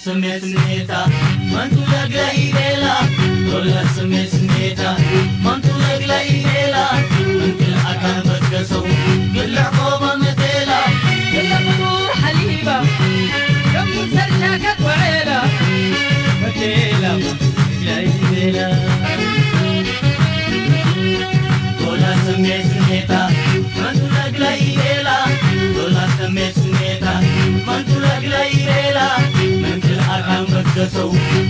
ስሜት ስሜታ መንቱ ለግለ ኢሌላ ዶላ ስሜት ስሜታ መንቱ ለግለ ኢሌላ እንክል ኣካን በትከሰው ግልዕ ቆባ መቴላ ግለ ፍጡር ሓሊባ ከም ሰርሻ ከቆዔላ መቴላ መንቱ ለግለ ኢሌላ ዶላ ስሜት ስሜታ መንቱ ለግለ ኢሌላ ዶላ ስሜት ስሜታ መንቱ ለግለ ኢሌላ መንክል ኣካን በትከሰው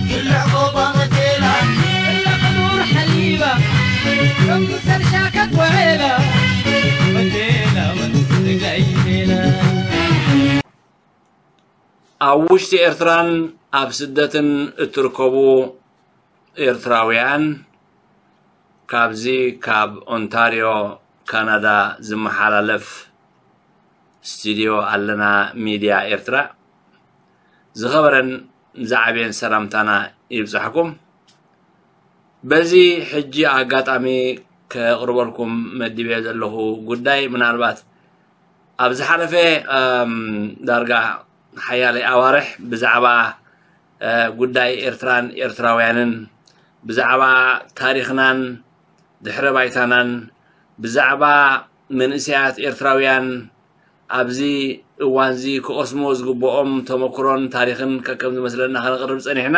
ግልዕ ቆባ መቴላ ግለ ፍጡር ሓሊባ ከም ሰርሻ ከቆዔላ መቴላ መንቱ ለግለ ኢሌላ ኣብ ውሽጢ ኤርትራን ኣብ ስደትን እትርከቡ ኤርትራውያን፣ ካብዚ ካብ ኦንታርዮ ካናዳ ዝመሓላለፍ ስቱድዮ ኣለና ሚድያ ኤርትራ ዝኸበረን ዝዓበየን ሰላምታና ይብጻሕኩም። በዚ ሕጂ ኣጋጣሚ ከቕርበልኩም መዲበ ዘለኹ ጉዳይ ምናልባት ኣብ ዝሓለፈ ዳርጋ ሓያለይ ኣዋርሕ ብዛዕባ ጉዳይ ኤርትራን ኤርትራውያንን ብዛዕባ ታሪኽናን ድሕረ ባይታናን ብዛዕባ መንእሰያት ኤርትራውያን ኣብዚ እዋንዚ ክቐስሞ ዝግብኦም ተመክሮን ታሪኽን ከከም ዝመስለና ከነቕርብ ጸኒሕና።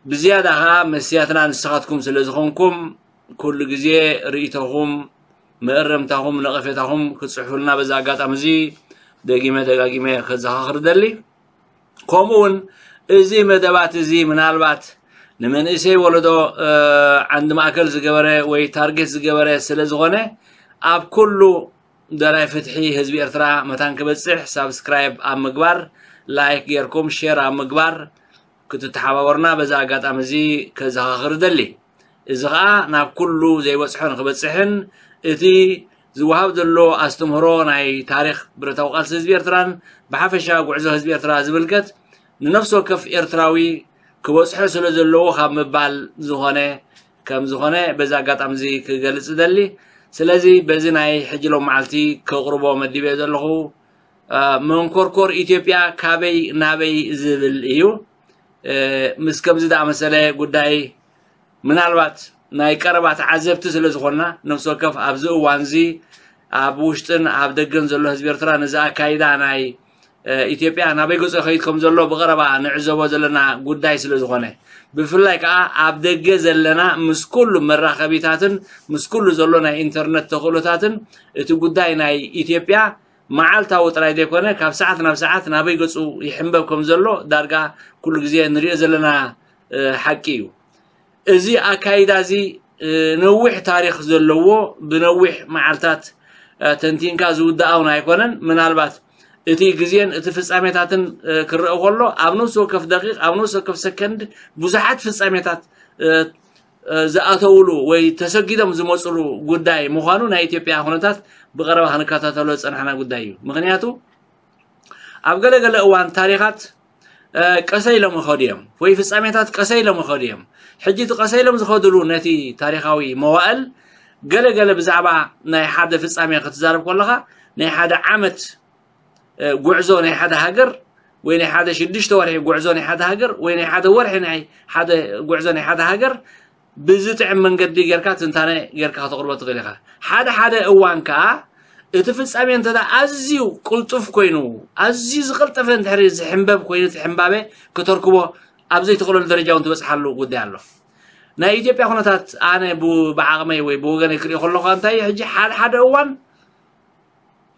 ብዝያዳ ኸኣ መስትያትና ንስኻትኩም ስለ ዝኾንኩም ኩሉ ግዜ ርእይቶኹም፣ መእረምታኹም፣ ነቐፌታኹም ክትጽሕፉልና በዚ ኣጋጣሚ እዚ ደጊመ ደጋጊመ ከዘኻኽር ደሊ። ከምኡ እውን እዚ መደባት እዚ ምናልባት ንመንእሰይ ወለዶ ዓንዲ ማእከል ዝገበረ ወይ ታርጌት ዝገበረ ስለ ዝኾነ ኣብ ኩሉ ደላይ ፍትሒ ህዝቢ ኤርትራ መታን ክበጽሕ ሳብስክራይብ ኣብ ምግባር ላይክ ጌርኩም ሼር ኣብ ምግባር ክትተሓባበሩና በዚ ኣጋጣሚ እዚ ከዘኻኽር እደሊ። እዚ ኸኣ ናብ ኩሉ ዘይበጽሖ ንኽበጽሕን እቲ ዝወሃብ ዘሎ ኣስተምህሮ ናይ ታሪኽ ብረታዊ ቃልሲ ህዝቢ ኤርትራን ብሓፈሻ ጉዕዞ ህዝቢ ኤርትራ ዝምልከት ንነፍሲ ወከፍ ኤርትራዊ ክበጽሖ ስለ ዘለዎ ካብ ምባል ዝኾነ ከም ዝኾነ በዚ ኣጋጣሚ እዚ ክገልጽ እደሊ። ስለዚ በዚ ናይ ሕጂ ሎም መዓልቲ ከቕርቦ መዲበ ዘለኹ መንኮርኮር ኢትዮጵያ ካበይ ናበይ ዝብል እዩ። ምስ ከምዚ ዝኣመሰለ ጉዳይ ምናልባት ናይ ቀረባ ተዓዘብቲ ስለ ዝኾንና ነፍሲ ወከፍ ኣብዚ እዋንዚ ኣብ ውሽጥን ኣብ ደገን ዘሎ ህዝቢ ኤርትራ ነዚ ኣካይዳ ናይ ኢትዮጵያ ናበይ ገጾ ይኸይድ ከም ዘሎ ብቐረባ ንዕዘቦ ዘለና ጉዳይ ስለ ዝኾነ ብፍላይ ከዓ ኣብ ደገ ዘለና ምስ ኩሉ መራኸቢታትን ምስ ኩሉ ዘሎ ናይ ኢንተርነት ተኽእሎታትን እቲ ጉዳይ ናይ ኢትዮጵያ መዓልታዊ ጥራይ ዘይኮነ ካብ ሰዓት ናብ ሰዓት ናበይ ገጹ ይሕንበብ ከም ዘሎ ዳርጋ ኩሉ ግዜ ንሪኦ ዘለና ሓቂ እዩ። እዚ ኣካይዳ እዚ ነዊሕ ታሪኽ ዘለዎ ብነዊሕ መዓልታት ተንቲንካ ዝውዳእ እውን ኣይኮነን። ምናልባት እቲ ግዜን እቲ ፍጻሜታትን ክረአ ከሎ ኣብ ነፍሲ ወከፍ ደቂቕ ኣብ ነፍሲ ወከፍ ሰከንድ ብዙሓት ፍጻሜታት ዝኣተውሉ ወይ ተሰጊዶም ዝመፅሉ ጉዳይ ምዃኑ ናይ ኢትዮጵያ ኩነታት ብቐረባ ክንከታተሎ ዝፀናሕና ጉዳይ እዩ። ምክንያቱ ኣብ ገለገለ እዋን ታሪኻት ቀሰ ኢሎም ይኸዱ እዮም ወይ ፍጻሜታት ቀሰ ኢሎም ይኸዱ እዮም። ሕጂ እቲ ቀሰ ኢሎም ዝኸድሉ ነቲ ታሪኻዊ መዋእል ገለገለ ብዛዕባ ናይ ሓደ ፍጻሜ ክትዛረብ ከለኻ ናይ ሓደ ዓመት ጉዕዞ ናይ ሓደ ሃገር ወይ ናይ ሓደ ሽዱሽተ ወርሒ ጉዕዞ ናይ ሓደ ሃገር ወይ ናይ ሓደ ወርሒ ናይ ሓደ ጉዕዞ ናይ ሓደ ሃገር ብዝጥዕም መንገዲ ጌርካ ትንታነ ጌርካ ከተቕርቦ ትኽእል ኢኻ። ሓደ ሓደ እዋን ከኣ እቲ ፍጻሜ እንተ ኣዝዩ ቅልጡፍ ኮይኑ ኣዝዩ ዝቐልጠፈ እንድሕሪ ዝሕንበብ ኮይኑ እቲ ሕንባበ ክተርክቦ ኣብ ዘይትኽእለሉ ደረጃ እውን ትበጽሓሉ ጉዳይ ኣሎ። ናይ ኢትዮጵያ ኩነታት ኣነ ብዓቕመይ ወይ ብወገነይ ክሪኦ ከለኹ እንታይ እዩ ሕጂ ሓደ ሓደ እዋን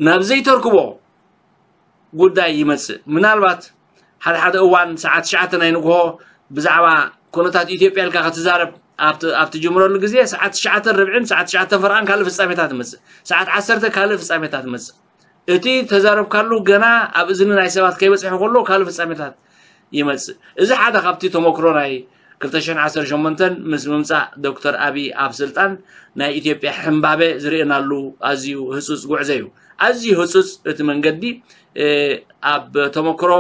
ናብ ዘይተርክቦ ጉዳይ ይመጽእ። ምናልባት ሓደ ሓደ እዋን ሰዓት ትሽዓተ ናይ ንግሆ ብዛዕባ ኩነታት ኢትዮጵያ ኢልካ ክትዛረብ ኣብ ትጅምረሉ ግዜ ሰዓት ትሽዓተ ርብዕን ሰዓት ትሽዓተ ፈርቓን ካልእ ፍጻሜታት ይመጽእ። ሰዓት ዓሰርተ ካልእ ፍጻሜታት ይመጽእ። እቲ ተዛረብካሉ ገና ኣብ እዝኒ ናይ ሰባት ከይበጽሐ ከሎ ካልእ ፍጻሜታት ይመጽእ። እዚ ሓደ ካብቲ ተመክሮ ናይ ክልተ ሽሕን ዓሰርተ ሸሞንተን ምስ ምምፃእ ዶክተር ኣብይ ኣብ ስልጣን ናይ ኢትዮጵያ ሕምባበ ዝርእናሉ ኣዝዩ ህፁፅ ጉዕዞ እዩ። ኣዝዩ ህፁፅ እቲ መንገዲ። ኣብ ተመክሮ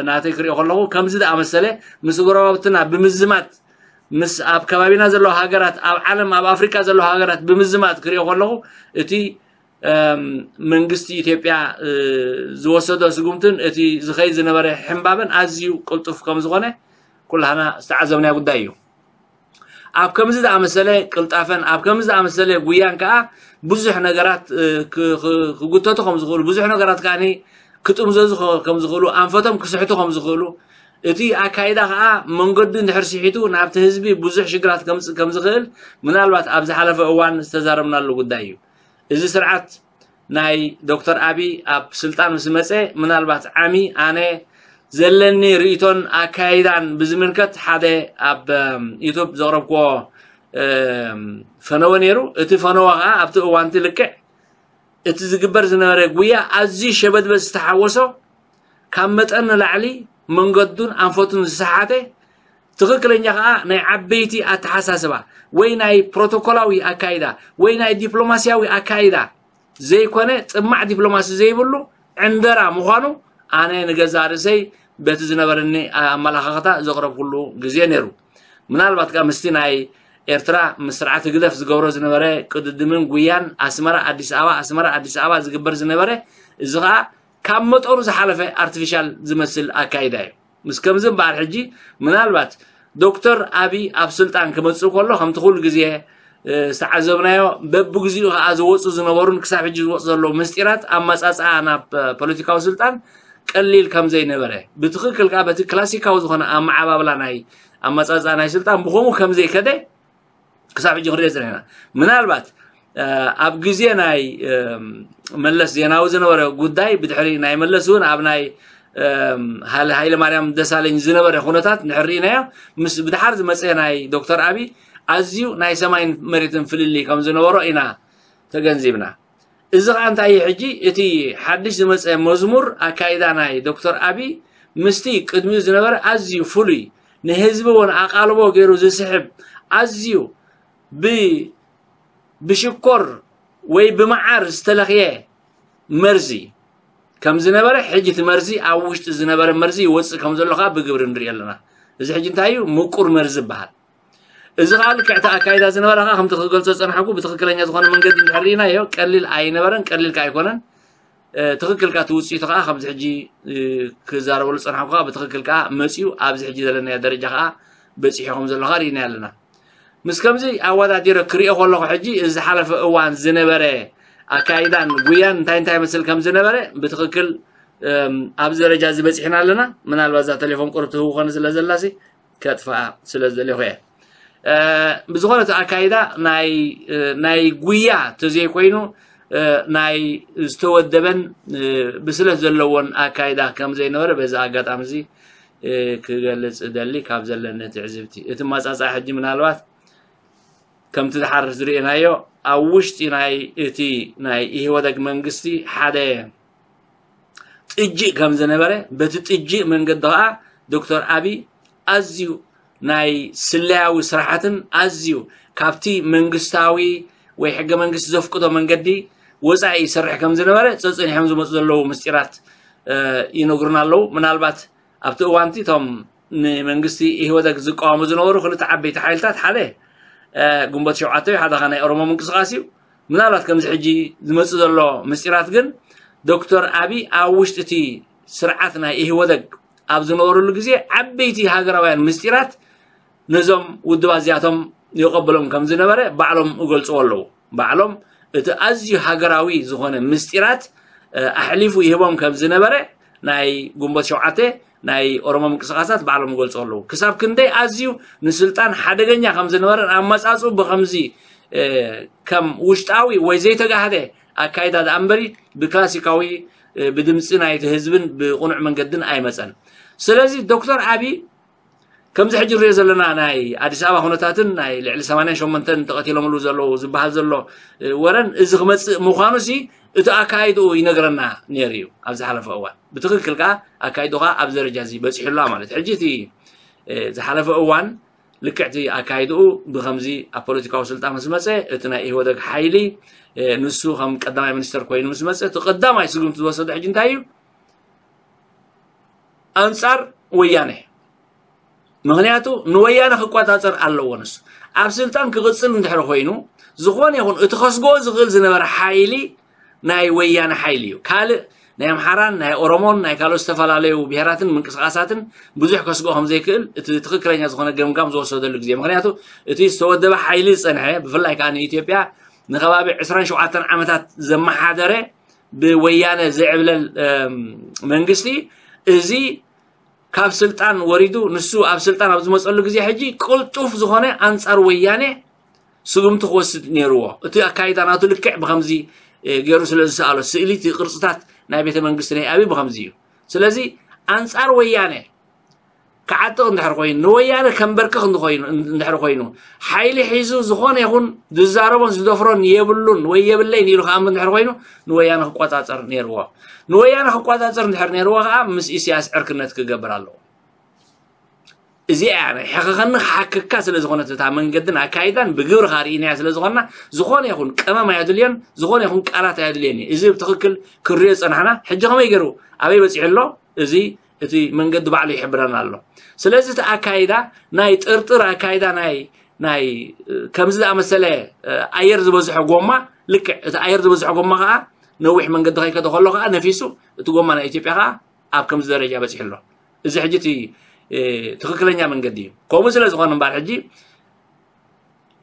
ናተይ ክሪኦ ከለኹ ከምዚ ዝኣመሰለ ምስ ጎረባብትና ብምዝማት፣ ምስ ኣብ ከባቢና ዘለዋ ሃገራት፣ ኣብ ዓለም ኣብ ኣፍሪካ ዘለዋ ሃገራት ብምዝማት ክሪኦ ከለኹ እቲ መንግስቲ ኢትዮጵያ ዝወሰዶ ስጉምትን እቲ ዝኸይድ ዝነበረ ሕምባበን ኣዝዩ ቅልጡፍ ከም ዝኾነ ኩላህና ዝተዓዘብናዮ ጉዳይ እዩ። ኣብ ከምዚ ዝኣመሰለ ቅልጣፈን ኣብ ከምዚ ዝኣመሰለ ጉያን ከዓ ብዙሕ ነገራት ክጉተቱ ከም ዝኽእሉ፣ ብዙሕ ነገራት ከዓ ክጥምዘዙ ከም ዝኽእሉ፣ ኣንፈቶም ክስሕቱ ከም ዝኽእሉ፣ እቲ ኣካይዳ ከዓ መንገዱ እንድሕር ስሒቱ ናብቲ ህዝቢ ብዙሕ ሽግራት ከምፅእ ከም ዝኽእል ምናልባት ኣብ ዝሓለፈ እዋን ዝተዛረብናሉ ጉዳይ እዩ። እዚ ስርዓት ናይ ዶክተር ኣብይ ኣብ ስልጣን ምስ መፀ ምናልባት ዓሚ ኣነ ዘለኒ ርእይቶን ኣካይዳን ብዝምልከት ሓደ ኣብ ዩቱብ ዘቕረብክዎ ፈነወ ነይሩ። እቲ ፈነወ ከዓ ኣብቲ እዋንቲ ልክዕ እቲ ዝግበር ዝነበረ ጉያ ኣዝዩ ሸበድበድ ዝተሓወሶ፣ ካብ መጠን ንላዕሊ መንገዱን ኣንፈቱን ዝሰሓተ፣ ትኽክለኛ ከዓ ናይ ዓበይቲ ኣተሓሳስባ ወይ ናይ ፕሮቶኮላዊ ኣካይዳ ወይ ናይ ዲፕሎማስያዊ ኣካይዳ ዘይኮነ፣ ጥማዕ ዲፕሎማሲ ዘይብሉ ዕንደራ ምዃኑ ኣነ ንገዛእ ርእሰይ በቲ ዝነበረኒ ኣመላኻኽታ ዘቕረብኩሉ ግዜ ነይሩ። ምናልባት ከዓ ምስቲ ናይ ኤርትራ ምስ ስርዓት ህግደፍ ዝገብሮ ዝነበረ ቅድድምን ጉያን ኣስመራ ኣዲስ ኣበባ ኣስመራ ኣዲስ ኣበባ ዝግበር ዝነበረ፣ እዚ ከዓ ካብ መጠኑ ዝሓለፈ ኣርቲፊሻል ዝመስል ኣካይዳ እዩ። ምስ ከምዚ እምበኣር ሕጂ ምናልባት ዶክተር ኣብይ ኣብ ስልጣን ክመፅእ ከሎ ከምቲ ኩሉ ግዜ ዝተዓዘብናዮ በብግዚኡ ከዓ ዝወፁ ዝነበሩን ክሳብ ሕጂ ዝወፁ ዘለዉ ምስጢራት ኣመፃፅኣ ናብ ፖለቲካዊ ስልጣን ቀሊል ከም ዘይነበረ፣ ብትኽክል ከዓ በቲ ክላሲካዊ ዝኾነ ኣመዓባብላ ናይ ኣመፃፅኣ ናይ ስልጣን ብኸምኡ ከም ዘይከደ ክሳብ ሕጂ ክንሪኦ ዘለና። ምናልባት ኣብ ግዜ ናይ መለስ ዜናዊ ዝነበረ ጉዳይ ብድሕሪ ናይ መለስ እውን ኣብ ናይ ሃይለ ማርያም ደሳለኝ ዝነበረ ኩነታት ንሕርኢናዮ ምስ ብድሓር ዝመፀ ናይ ዶክተር ኣብይ ኣዝዩ ናይ ሰማይን መሬትን ፍልልይ ከም ዝነበሮ ኢና ተገንዚብና። እዚ ከዓ እንታይ እዩ? ሕጂ እቲ ሓድሽ ዝመፀ መዝሙር ኣካይዳ ናይ ዶክተር ኣብይ ምስቲ ቅድሚኡ ዝነበረ ኣዝዩ ፍሉይ፣ ንህዝቢ እውን ኣቓልቦ ገይሩ ዝስሕብ፣ ኣዝዩ ብ ብሽኮር ወይ ብመዓር ዝተለኽየ መርዚ ከም ዝነበረ፣ ሕጂ እቲ መርዚ ኣብ ውሽጢ ዝነበረ መርዚ ይወፅእ ከም ዘሎ ከዓ ብግብሪ ንርኢ ኣለና። እዚ ሕጂ እንታይ እዩ? ምቁር መርዚ ይበሃል። እዚ ከዓ ልክዕ እቲ ኣካይዳ ዝነበረ ከዓ ከምቲ ክገልፆ ዝፀናሕኩ ብትኽክለኛ ዝኾነ መንገዲ እንድሕር ርኢናዮ ቀሊል ኣይነበረን፣ ቀሊል ከዓ ኣይኮነን። ትኽክል ከዓ እቲ ውፅኢቱ ከዓ ከምዚ ሕጂ ክዛረበሉ ዝፀናሕኩ ከዓ ብትኽክል ከዓ መፂኡ ኣብዚ ሕጂ ዘለናዮ ደረጃ ከዓ በፂሑ ከም ዘሎ ከዓ ርኢናዮ ኣለና። ምስ ከምዚ ኣወዳዲረ ክሪኦ ከለኹ ሕጂ እዚ ዝሓለፈ እዋን ዝነበረ ኣካይዳን ጉያን እንታይ እንታይ መስል ከም ዝነበረ ብትኽክል ኣብዚ ደረጃ እዚ በፂሕና ኣለና። ምናልባት እዛ ቴሌፎን ቁሩብ ትህው ኮነ ስለ ዘላሲ ከጥፍኣ ስለ ዝደለኹ እየ። ብዝኾነ እቲ ኣካይዳ ናይ ጉያ ተዘይኮይኑ ናይ ዝተወደበን ብስለት ዘለዎን ኣካይዳ ከም ዘይነበረ በዚ ኣጋጣሚ እዚ ክገልፅ እደሊ ካብ ዘለኒ ትዕዝብቲ። እቲ ማፃፃ ሕጂ ምናልባት ከምቲ ድሓር ዝርእናዮ ኣብ ውሽጢ ናይ እቲ ናይ ኢህወደግ መንግስቲ ሓደ ጥጅእ ከም ዝነበረ፣ በቲ ጥጅእ መንገዲ ከዓ ዶክተር ኣብይ ኣዝዩ ናይ ስለያዊ ስራሓትን ኣዝዩ ካብቲ መንግስታዊ ወይ ሕገ መንግስቲ ዘፍቅዶ መንገዲ ወፃኢ ይሰርሕ ከም ዝነበረ ፀፅኒሖም ዝመፁ ዘለዉ ምስጢራት ይነግሩና ኣለዉ። ምናልባት ኣብቲ እዋንቲ እቶም ንመንግስቲ ኢህወደግ ዝቃወሙ ዝነበሩ ክልተ ዓበይቲ ሓይልታት ሓደ ግንቦት ሸውዓተ እዩ፣ ሓደ ከዓ ናይ ኦሮሞ ምንቅስቃስ እዩ። ምናልባት ከምዚ ሕጂ ዝመፅእ ዘሎ ምስጢራት ግን ዶክተር ኣብይ ኣብ ውሽጢ እቲ ስርዓት ናይ ኢህወደግ ኣብ ዝነበረሉ ግዜ ዓበይቲ ሃገራውያን ምስጢራት ነዞም ውድባት እዚኣቶም ይቐበሎም ከም ዝነበረ ባዕሎም ይገልፅዎ ኣለዉ። ባዕሎም እቲ ኣዝዩ ሃገራዊ ዝኾነ ምስጢራት ኣሕሊፉ ይህቦም ከም ዝነበረ ናይ ግንቦት ሸውዓተ ናይ ኦሮሞ ምንቅስቃሳት ባዕሎም ይገልፁ ኣለዉ። ክሳብ ክንደይ ኣዝዩ ንስልጣን ሓደገኛ ከም ዝነበረን ኣመፃፅኡ ብከምዚ ከም ውሽጣዊ ወይ ዘይተጋህደ ኣካይዳ ደኣ እምበሪ ብክላሲካዊ ብድምፂ ናይቲ ህዝብን ብቕኑዕ መንገድን ኣይመፀን። ስለዚ ዶክተር ኣብይ ከምዚ ሕጂ ንሪኦ ዘለና ናይ ኣዲስ ኣበባ ኩነታትን ናይ ልዕሊ ሰማንያን ሸሞንተን ተቐቲሎምሉ ዘለዉ ዝበሃል ዘሎ ወረን እዚ ክመፅእ ምዃኑሲ እቲ ኣካይድኡ ይነግረና ነይሩ እዩ ኣብ ዝሓለፈ እዋን። ብትኽክል ከዓ ኣካይድኡ ከዓ ኣብዚ ደረጃ እዚ በፂሑላ ማለት። ሕጂ እቲ ዝሓለፈ እዋን ልክዕቲ ኣካይድኡ ብኸምዚ ኣብ ፖለቲካዊ ስልጣን ምስ መፀ፣ እቲ ናይ ኢህወደግ ሓይሊ ንሱ ከም ቀዳማይ ሚኒስተር ኮይኑ ምስ መፀ፣ እቲ ቀዳማይ ስጉምቲ ዝወሰደ ሕጂ እንታይ እዩ? ኣንፃር ወያነ። ምክንያቱ ንወያነ ክቆፃፀር ኣለዎ። ንሱ ኣብ ስልጣን ክቕፅል እንድሕር ኮይኑ፣ ዝኾነ ይኹን እቲ ከስግኦ ዝኽእል ዝነበረ ሓይሊ ናይ ወያነ ሓይሊ እዩ። ካልእ ናይ ኣምሓራን ናይ ኦሮሞን ናይ ካልኦት ዝተፈላለዩ ብሄራትን ምንቅስቃሳትን ብዙሕ ከስግኦ ከም ዘይክእል እቲ ትኽክለኛ ዝኾነ ገምጋም ዝወሰደሉ ግዜ። ምክንያቱ እቲ ዝተወደበ ሓይሊ ዝፀንሐ፣ ብፍላይ ከዓ ንኢትዮጵያ ንከባቢ ዕስራን ሸውዓተን ዓመታት ዘመሓደረ ብወያነ ዝዕብለል መንግስቲ፣ እዚ ካብ ስልጣን ወሪዱ ንሱ ኣብ ስልጣን ኣብ ዝመፀሉ ግዜ ሕጂ ቅልጡፍ ዝኾነ ኣንፃር ወያነ ስጉምቲ ክወስድ ነይርዎ። እቲ ኣካይዳ ናቱ ልክዕ ብከምዚ ገይሩ ስለ ዝሰኣሎ፣ ስእሊ እቲ ቅርፅታት ናይ ቤተ መንግስቲ ናይ ኣብይ ብከምዚ እዩ። ስለዚ ኣንፃር ወያነ ክዓጥቕ እንድሕር ኮይኑ፣ ንወያነ ከንበርክኽ እንድኾይኑ እንድሕር ኮይኑ፣ ሓይሊ ሒዙ ዝኾነ ይኹን ዝዛረቦን ዝደፍሮን የብሉን ወይ የብለይን ኢሉ ክኣምን እንድሕር ኮይኑ፣ ንወያነ ክቆፃፀር ነይርዎ። ንወያነ ክቆፃፀር እንድሕር ነይርዎ ከዓ ምስ ኢሳያስ ዕርክነት ክገብር ኣለዎ። እዚኣ ናይ ሕኸኸኒ ሓክካ ስለ ዝኾነት እታ መንገድን ኣካይዳን ብግብሪ ርኢናያ ስለ ዝኾንና፣ ዝኾነ ይኹን ቀመም ኣየድልዮን፣ ዝኾነ ይኹን ቃላት ኣየድልዮን እዩ። እዚ ብትኽክል ክሪኦ ዝፀናሕና ሕጂ ከመይ ገይሩ ኣበይ በፂሑ ኣሎ? እዚ እቲ መንገዲ ባዕሉ ይሕብረና ኣሎ። ስለዚ እቲ ኣካይዳ ናይ ጥርጥር ኣካይዳ ናይ ናይ ከምዚ ዝኣመሰለ ኣየር ዝበዝሖ ጎማ፣ ልክዕ እቲ ኣየር ዝበዝሖ ጎማ ከዓ ነዊሕ መንገዲ ከይከደ ከሎ ከዓ ነፊሱ እቲ ጎማ ናይ ኢትዮጵያ ከዓ ኣብ ከምዚ ደረጃ በፂሑ ኣሎ። እዚ ሕጂ እቲ ትኽክለኛ መንገዲ እዩ። ከምኡ ስለ ዝኾነ እምበኣር ሕጂ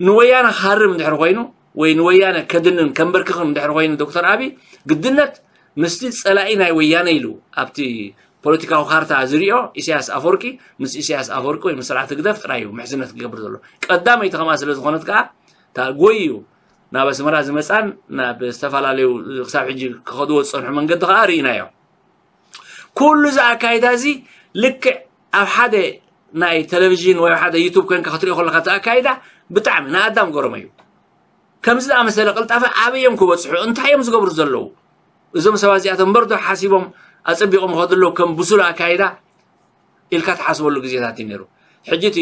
ንወያነ ክሃርም እንድሕር ኮይኑ ወይ ንወያነ ከድንን ከንበርክኽን እንድሕር ኮይኑ ዶክተር ኣብይ ግድነት ምስቲ ፀላኢ ናይ ወያነ ኢሉ ኣብቲ ፖለቲካዊ ካርታ ዝሪኦ ኢሳያስ ኣፈወርቂ፣ ምስ ኢሳያስ ኣፈወርቂ ወይ ምስ ስርዓት ህግደፍ ጥራይ እዩ ምሕዝነት ክገብር ዘሎ። ቀዳመይቲ ከምኣ ስለ ዝኾነት ከዓ እታ ጎይዩ ናብ ኣስመራ ዝመፃን ናብ ዝተፈላለዩ ክሳብ ሕጂ ክኸድዎ ዝፀንሑ መንገዲ ከዓ ርኢናዮ። ኩሉ እዚ ኣካይዳ እዚ ልክዕ ኣብ ሓደ ናይ ቴሌቪዥን ወይ ሓደ ዩቱብ ኮንካ ክትሪኦ ከለካ እቲ ኣካይዳ ብጣዕሚ ንኣዳም ገረሞ እዩ። ከምዚ ዝኣመሰለ ቅልጣፈ ኣበይ እዮም ክበፅሑ? እንታይ እዮም ዝገብሩ ዘለዉ? እዞም ሰባት እዚኣቶም እምበር ዶ ሓሲቦም ኣፀቢቖም ይኸዱ ኣለዉ ከም ብሱል ኣካይዳ ኢልካ ትሓስበሉ ግዜታት እዩ ነይሩ። ሕጂ እቲ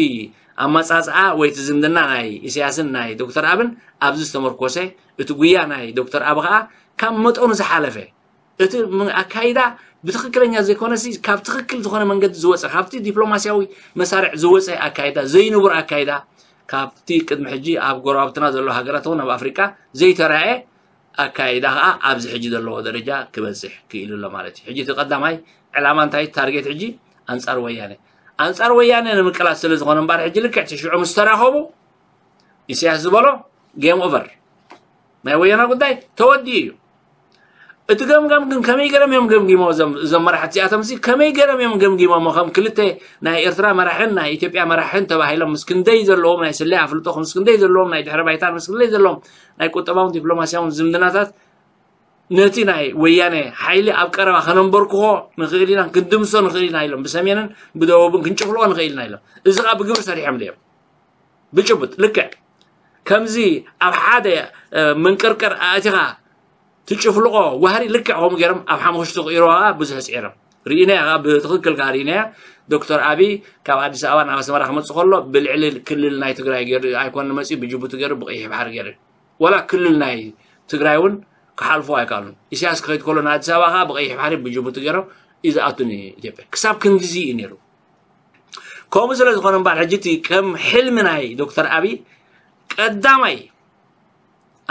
ኣመፃፅኣ ወይ እቲ ዝምድና ናይ ኢሳያስን ናይ ዶክተር ኣብን ኣብዚ ዝተመርኮሰ፣ እቲ ጉያ ናይ ዶክተር ኣብ ከዓ ካብ መጠኑ ዝሓለፈ፣ እቲ ም-፣ ኣካይዳ ብትኽክለኛ ዘይኮነሲ ካብ ትኽክል ዝኾነ መንገዲ ዝወፀ፣ ካብቲ ዲፕሎማሲያዊ መሳርዕ ዝወፀ ኣካይዳ፣ ዘይንቡር ኣካይዳ፣ ካብቲ ቅድሚ ሕጂ ኣብ ጎረባብትና ዘሎ ሃገራት እውን ኣብ ኣፍሪቃ ዘይተራእየ ኣካይዳ ከዓ ኣብዚ ሕጂ ዘለዎ ደረጃ ክበፅሕ ክኢሉ ኣሎ ማለት እዩ። ሕጂ እቲ ቀዳማይ ዕላማ እንታይ? ታርጌት ሕጂ ኣንፃር ወያነ፣ ኣንፃር ወያነ ንምቅላስ ስለ ዝኾነ እምበኣር ሕጂ ልክዕ እቲ ሽዑ ምስ ተራኸቡ ኢሳያስ ዝበሎ ጌም ኦቨር፣ ናይ ወያነ ጉዳይ ተወዲኡ እዩ። እቲ ገምጋም ግን ከመይ ገይሮም እዮም ገምጊሞ? እዞም እዞም መራሕቲ እዚኣቶም ሲ ከመይ ገይሮም እዮም ገምጊሞሞ? ከም ክልተ ናይ ኤርትራ መራሕን ናይ ኢትዮጵያ መራሕን ተባሂሎም ምስ ክንደይ ዘለዎም ናይ ስለያ ኣፍልጦ፣ ምስ ክንደይ ዘለዎም ናይ ድሕረ ባይታን ምስ ክንደይ ዘለዎም ናይ ቁጠባውን ዲፕሎማሲያውን ዝምድናታት ነቲ ናይ ወያነ ሓይሊ ኣብ ቀረባ ከነንበርክኾ ንኽእል ኢና፣ ክንድምሶ ንኽእል ኢና ኢሎም፣ ብሰሜንን ብደቡብን ክንጭፍልቆ ንኽእል ኢና ኢሎም። እዚ ከዓ ብግብሪ ሰሪሖም ድዮም? ብጭቡጥ ልክዕ ከምዚ ኣብ ሓደ መንቅርቅር ኣእቲኻ ትጭፍልቆ ዋህሪ ልክዕ ከምኡ ገይሮም ኣብ ሓሙኽሽቲ ክቕይርዋ ብዙሕ ፅዒሮም ርኢናያ። ብትኽክል ከዓ ርኢናያ። ዶክተር ኣብይ ካብ ኣዲስ ኣበባ ናብ ኣስመራ ክመፅእ ከሎ ብልዕሊ ክልል ናይ ትግራይ ገይሩ ኣይኮነ መፅኡ፣ ብጅቡቲ ገይሩ፣ ብቀይሕ ባሕሪ ገይሩ፣ ዋላ ክልል ናይ ትግራይ እውን ክሓልፎ ኣይከኣሉን። ኢሳያስ ክኸይድ ከሎ ንኣዲስ ኣበባ ከዓ ብቀይሕ ባሕሪ ብጅቡቲ ገይሮም እዩ ዝኣቱ ንኢትዮጵያ። ክሳብ ክንድዚ እዩ ነይሩ። ከምኡ ስለ ዝኾነ እምበኣር ሕጂ እቲ ከም ሕልሚ ናይ ዶክተር ኣብይ ቀዳማይ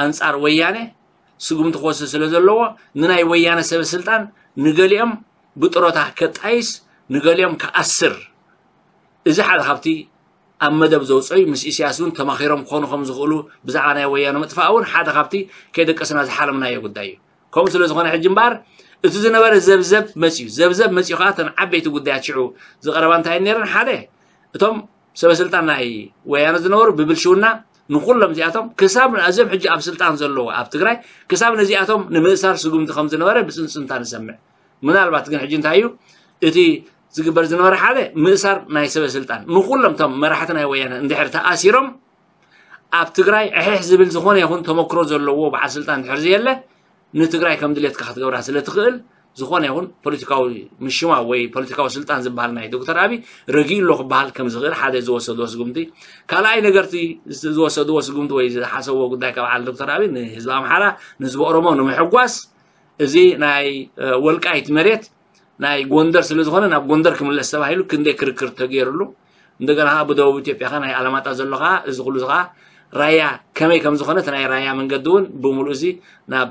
ኣንፃር ወያነ ስጉምቲ ክወስድ ስለ ዘለዎ ንናይ ወያነ ሰበ ስልጣን ንገሊኦም ብጥሮታ ከጣይስ ንገሊኦም ክኣስር፣ እዚ ሓደ ካብቲ ኣብ መደብ ዘውፅኦ እዩ። ምስ ኢሳያስ እውን ተማኺሮም ክኾኑ ከም ዝኽእሉ ብዛዕባ ናይ ወያነ ምጥፋእ እውን ሓደ ካብቲ ከይደቀስና ዝሓለምናዮ ጉዳይ እዩ። ከምኡ ስለ ዝኾነ ሕጂ እምበኣር እቲ ዝነበረ ዘብዘብ መፅዩ፣ ዘብዘብ መፅዩ ከዓ እተን ዓበይቲ ጉዳያት ሽዑ ዝቐረባ እንታይ ነይረን? ሓደ እቶም ሰበ ስልጣን ናይ ወያነ ዝነበሩ ብብልሽውና ንኩሎም እዚኣቶም ክሳብ ኣዝዮም ሕጂ ኣብ ስልጣን ዘለዉ ኣብ ትግራይ ክሳብ ነዚኣቶም ንምእሳር ስጉምቲ ከም ዝነበረ ብፅንፅንታ ንሰምዕ። ምናልባት ግን ሕጂ እንታይ እዩ እቲ ዝግበር ዝነበረ? ሓደ ምእሳር ናይ ሰበ ስልጣን ንኩሎም እቶም መራሕቲ ናይ ወያነ እንድሕር ተኣሲሮም ኣብ ትግራይ ዕሕሕ ዝብል ዝኾነ ይኹን ተመክሮ ዘለዎ በዓል ስልጣን እንድሕር ዘየለ ንትግራይ ከም ድሌትካ ክትገብራ ስለ ትኽእል ዝኾነ ይኹን ፖለቲካዊ ምሽማው ወይ ፖለቲካዊ ስልጣን ዝበሃል ናይ ዶክተር ኣብይ ረጊኡ ኣሎ ክበሃል ከም ዝኽእል ሓደ ዝወሰድዎ ስጉምቲ። ካልኣይ ነገርቲ ዝወሰድዎ ስጉምቲ ወይ ዝሓሰብዎ ጉዳይ ካብ ዓል ዶክተር ኣብይ ንህዝቢ ኣምሓራ፣ ንህዝቢ ኦሮሞ ንምሕጓስ እዚ ናይ ወልቃይት መሬት ናይ ጎንደር ስለ ዝኾነ ናብ ጎንደር ክምለስ ተባሂሉ ክንደይ ክርክር ተገይሩሉ። እንደገና ከዓ ብደቡብ ኢትዮጵያ ከዓ ናይ ኣላማጣ ዘሎ ከዓ እዚ ኩሉ ከዓ ራያ ከመይ ከም ዝኾነ እቲ ናይ ራያ መንገዲ እውን ብምሉእ እዚ ናብ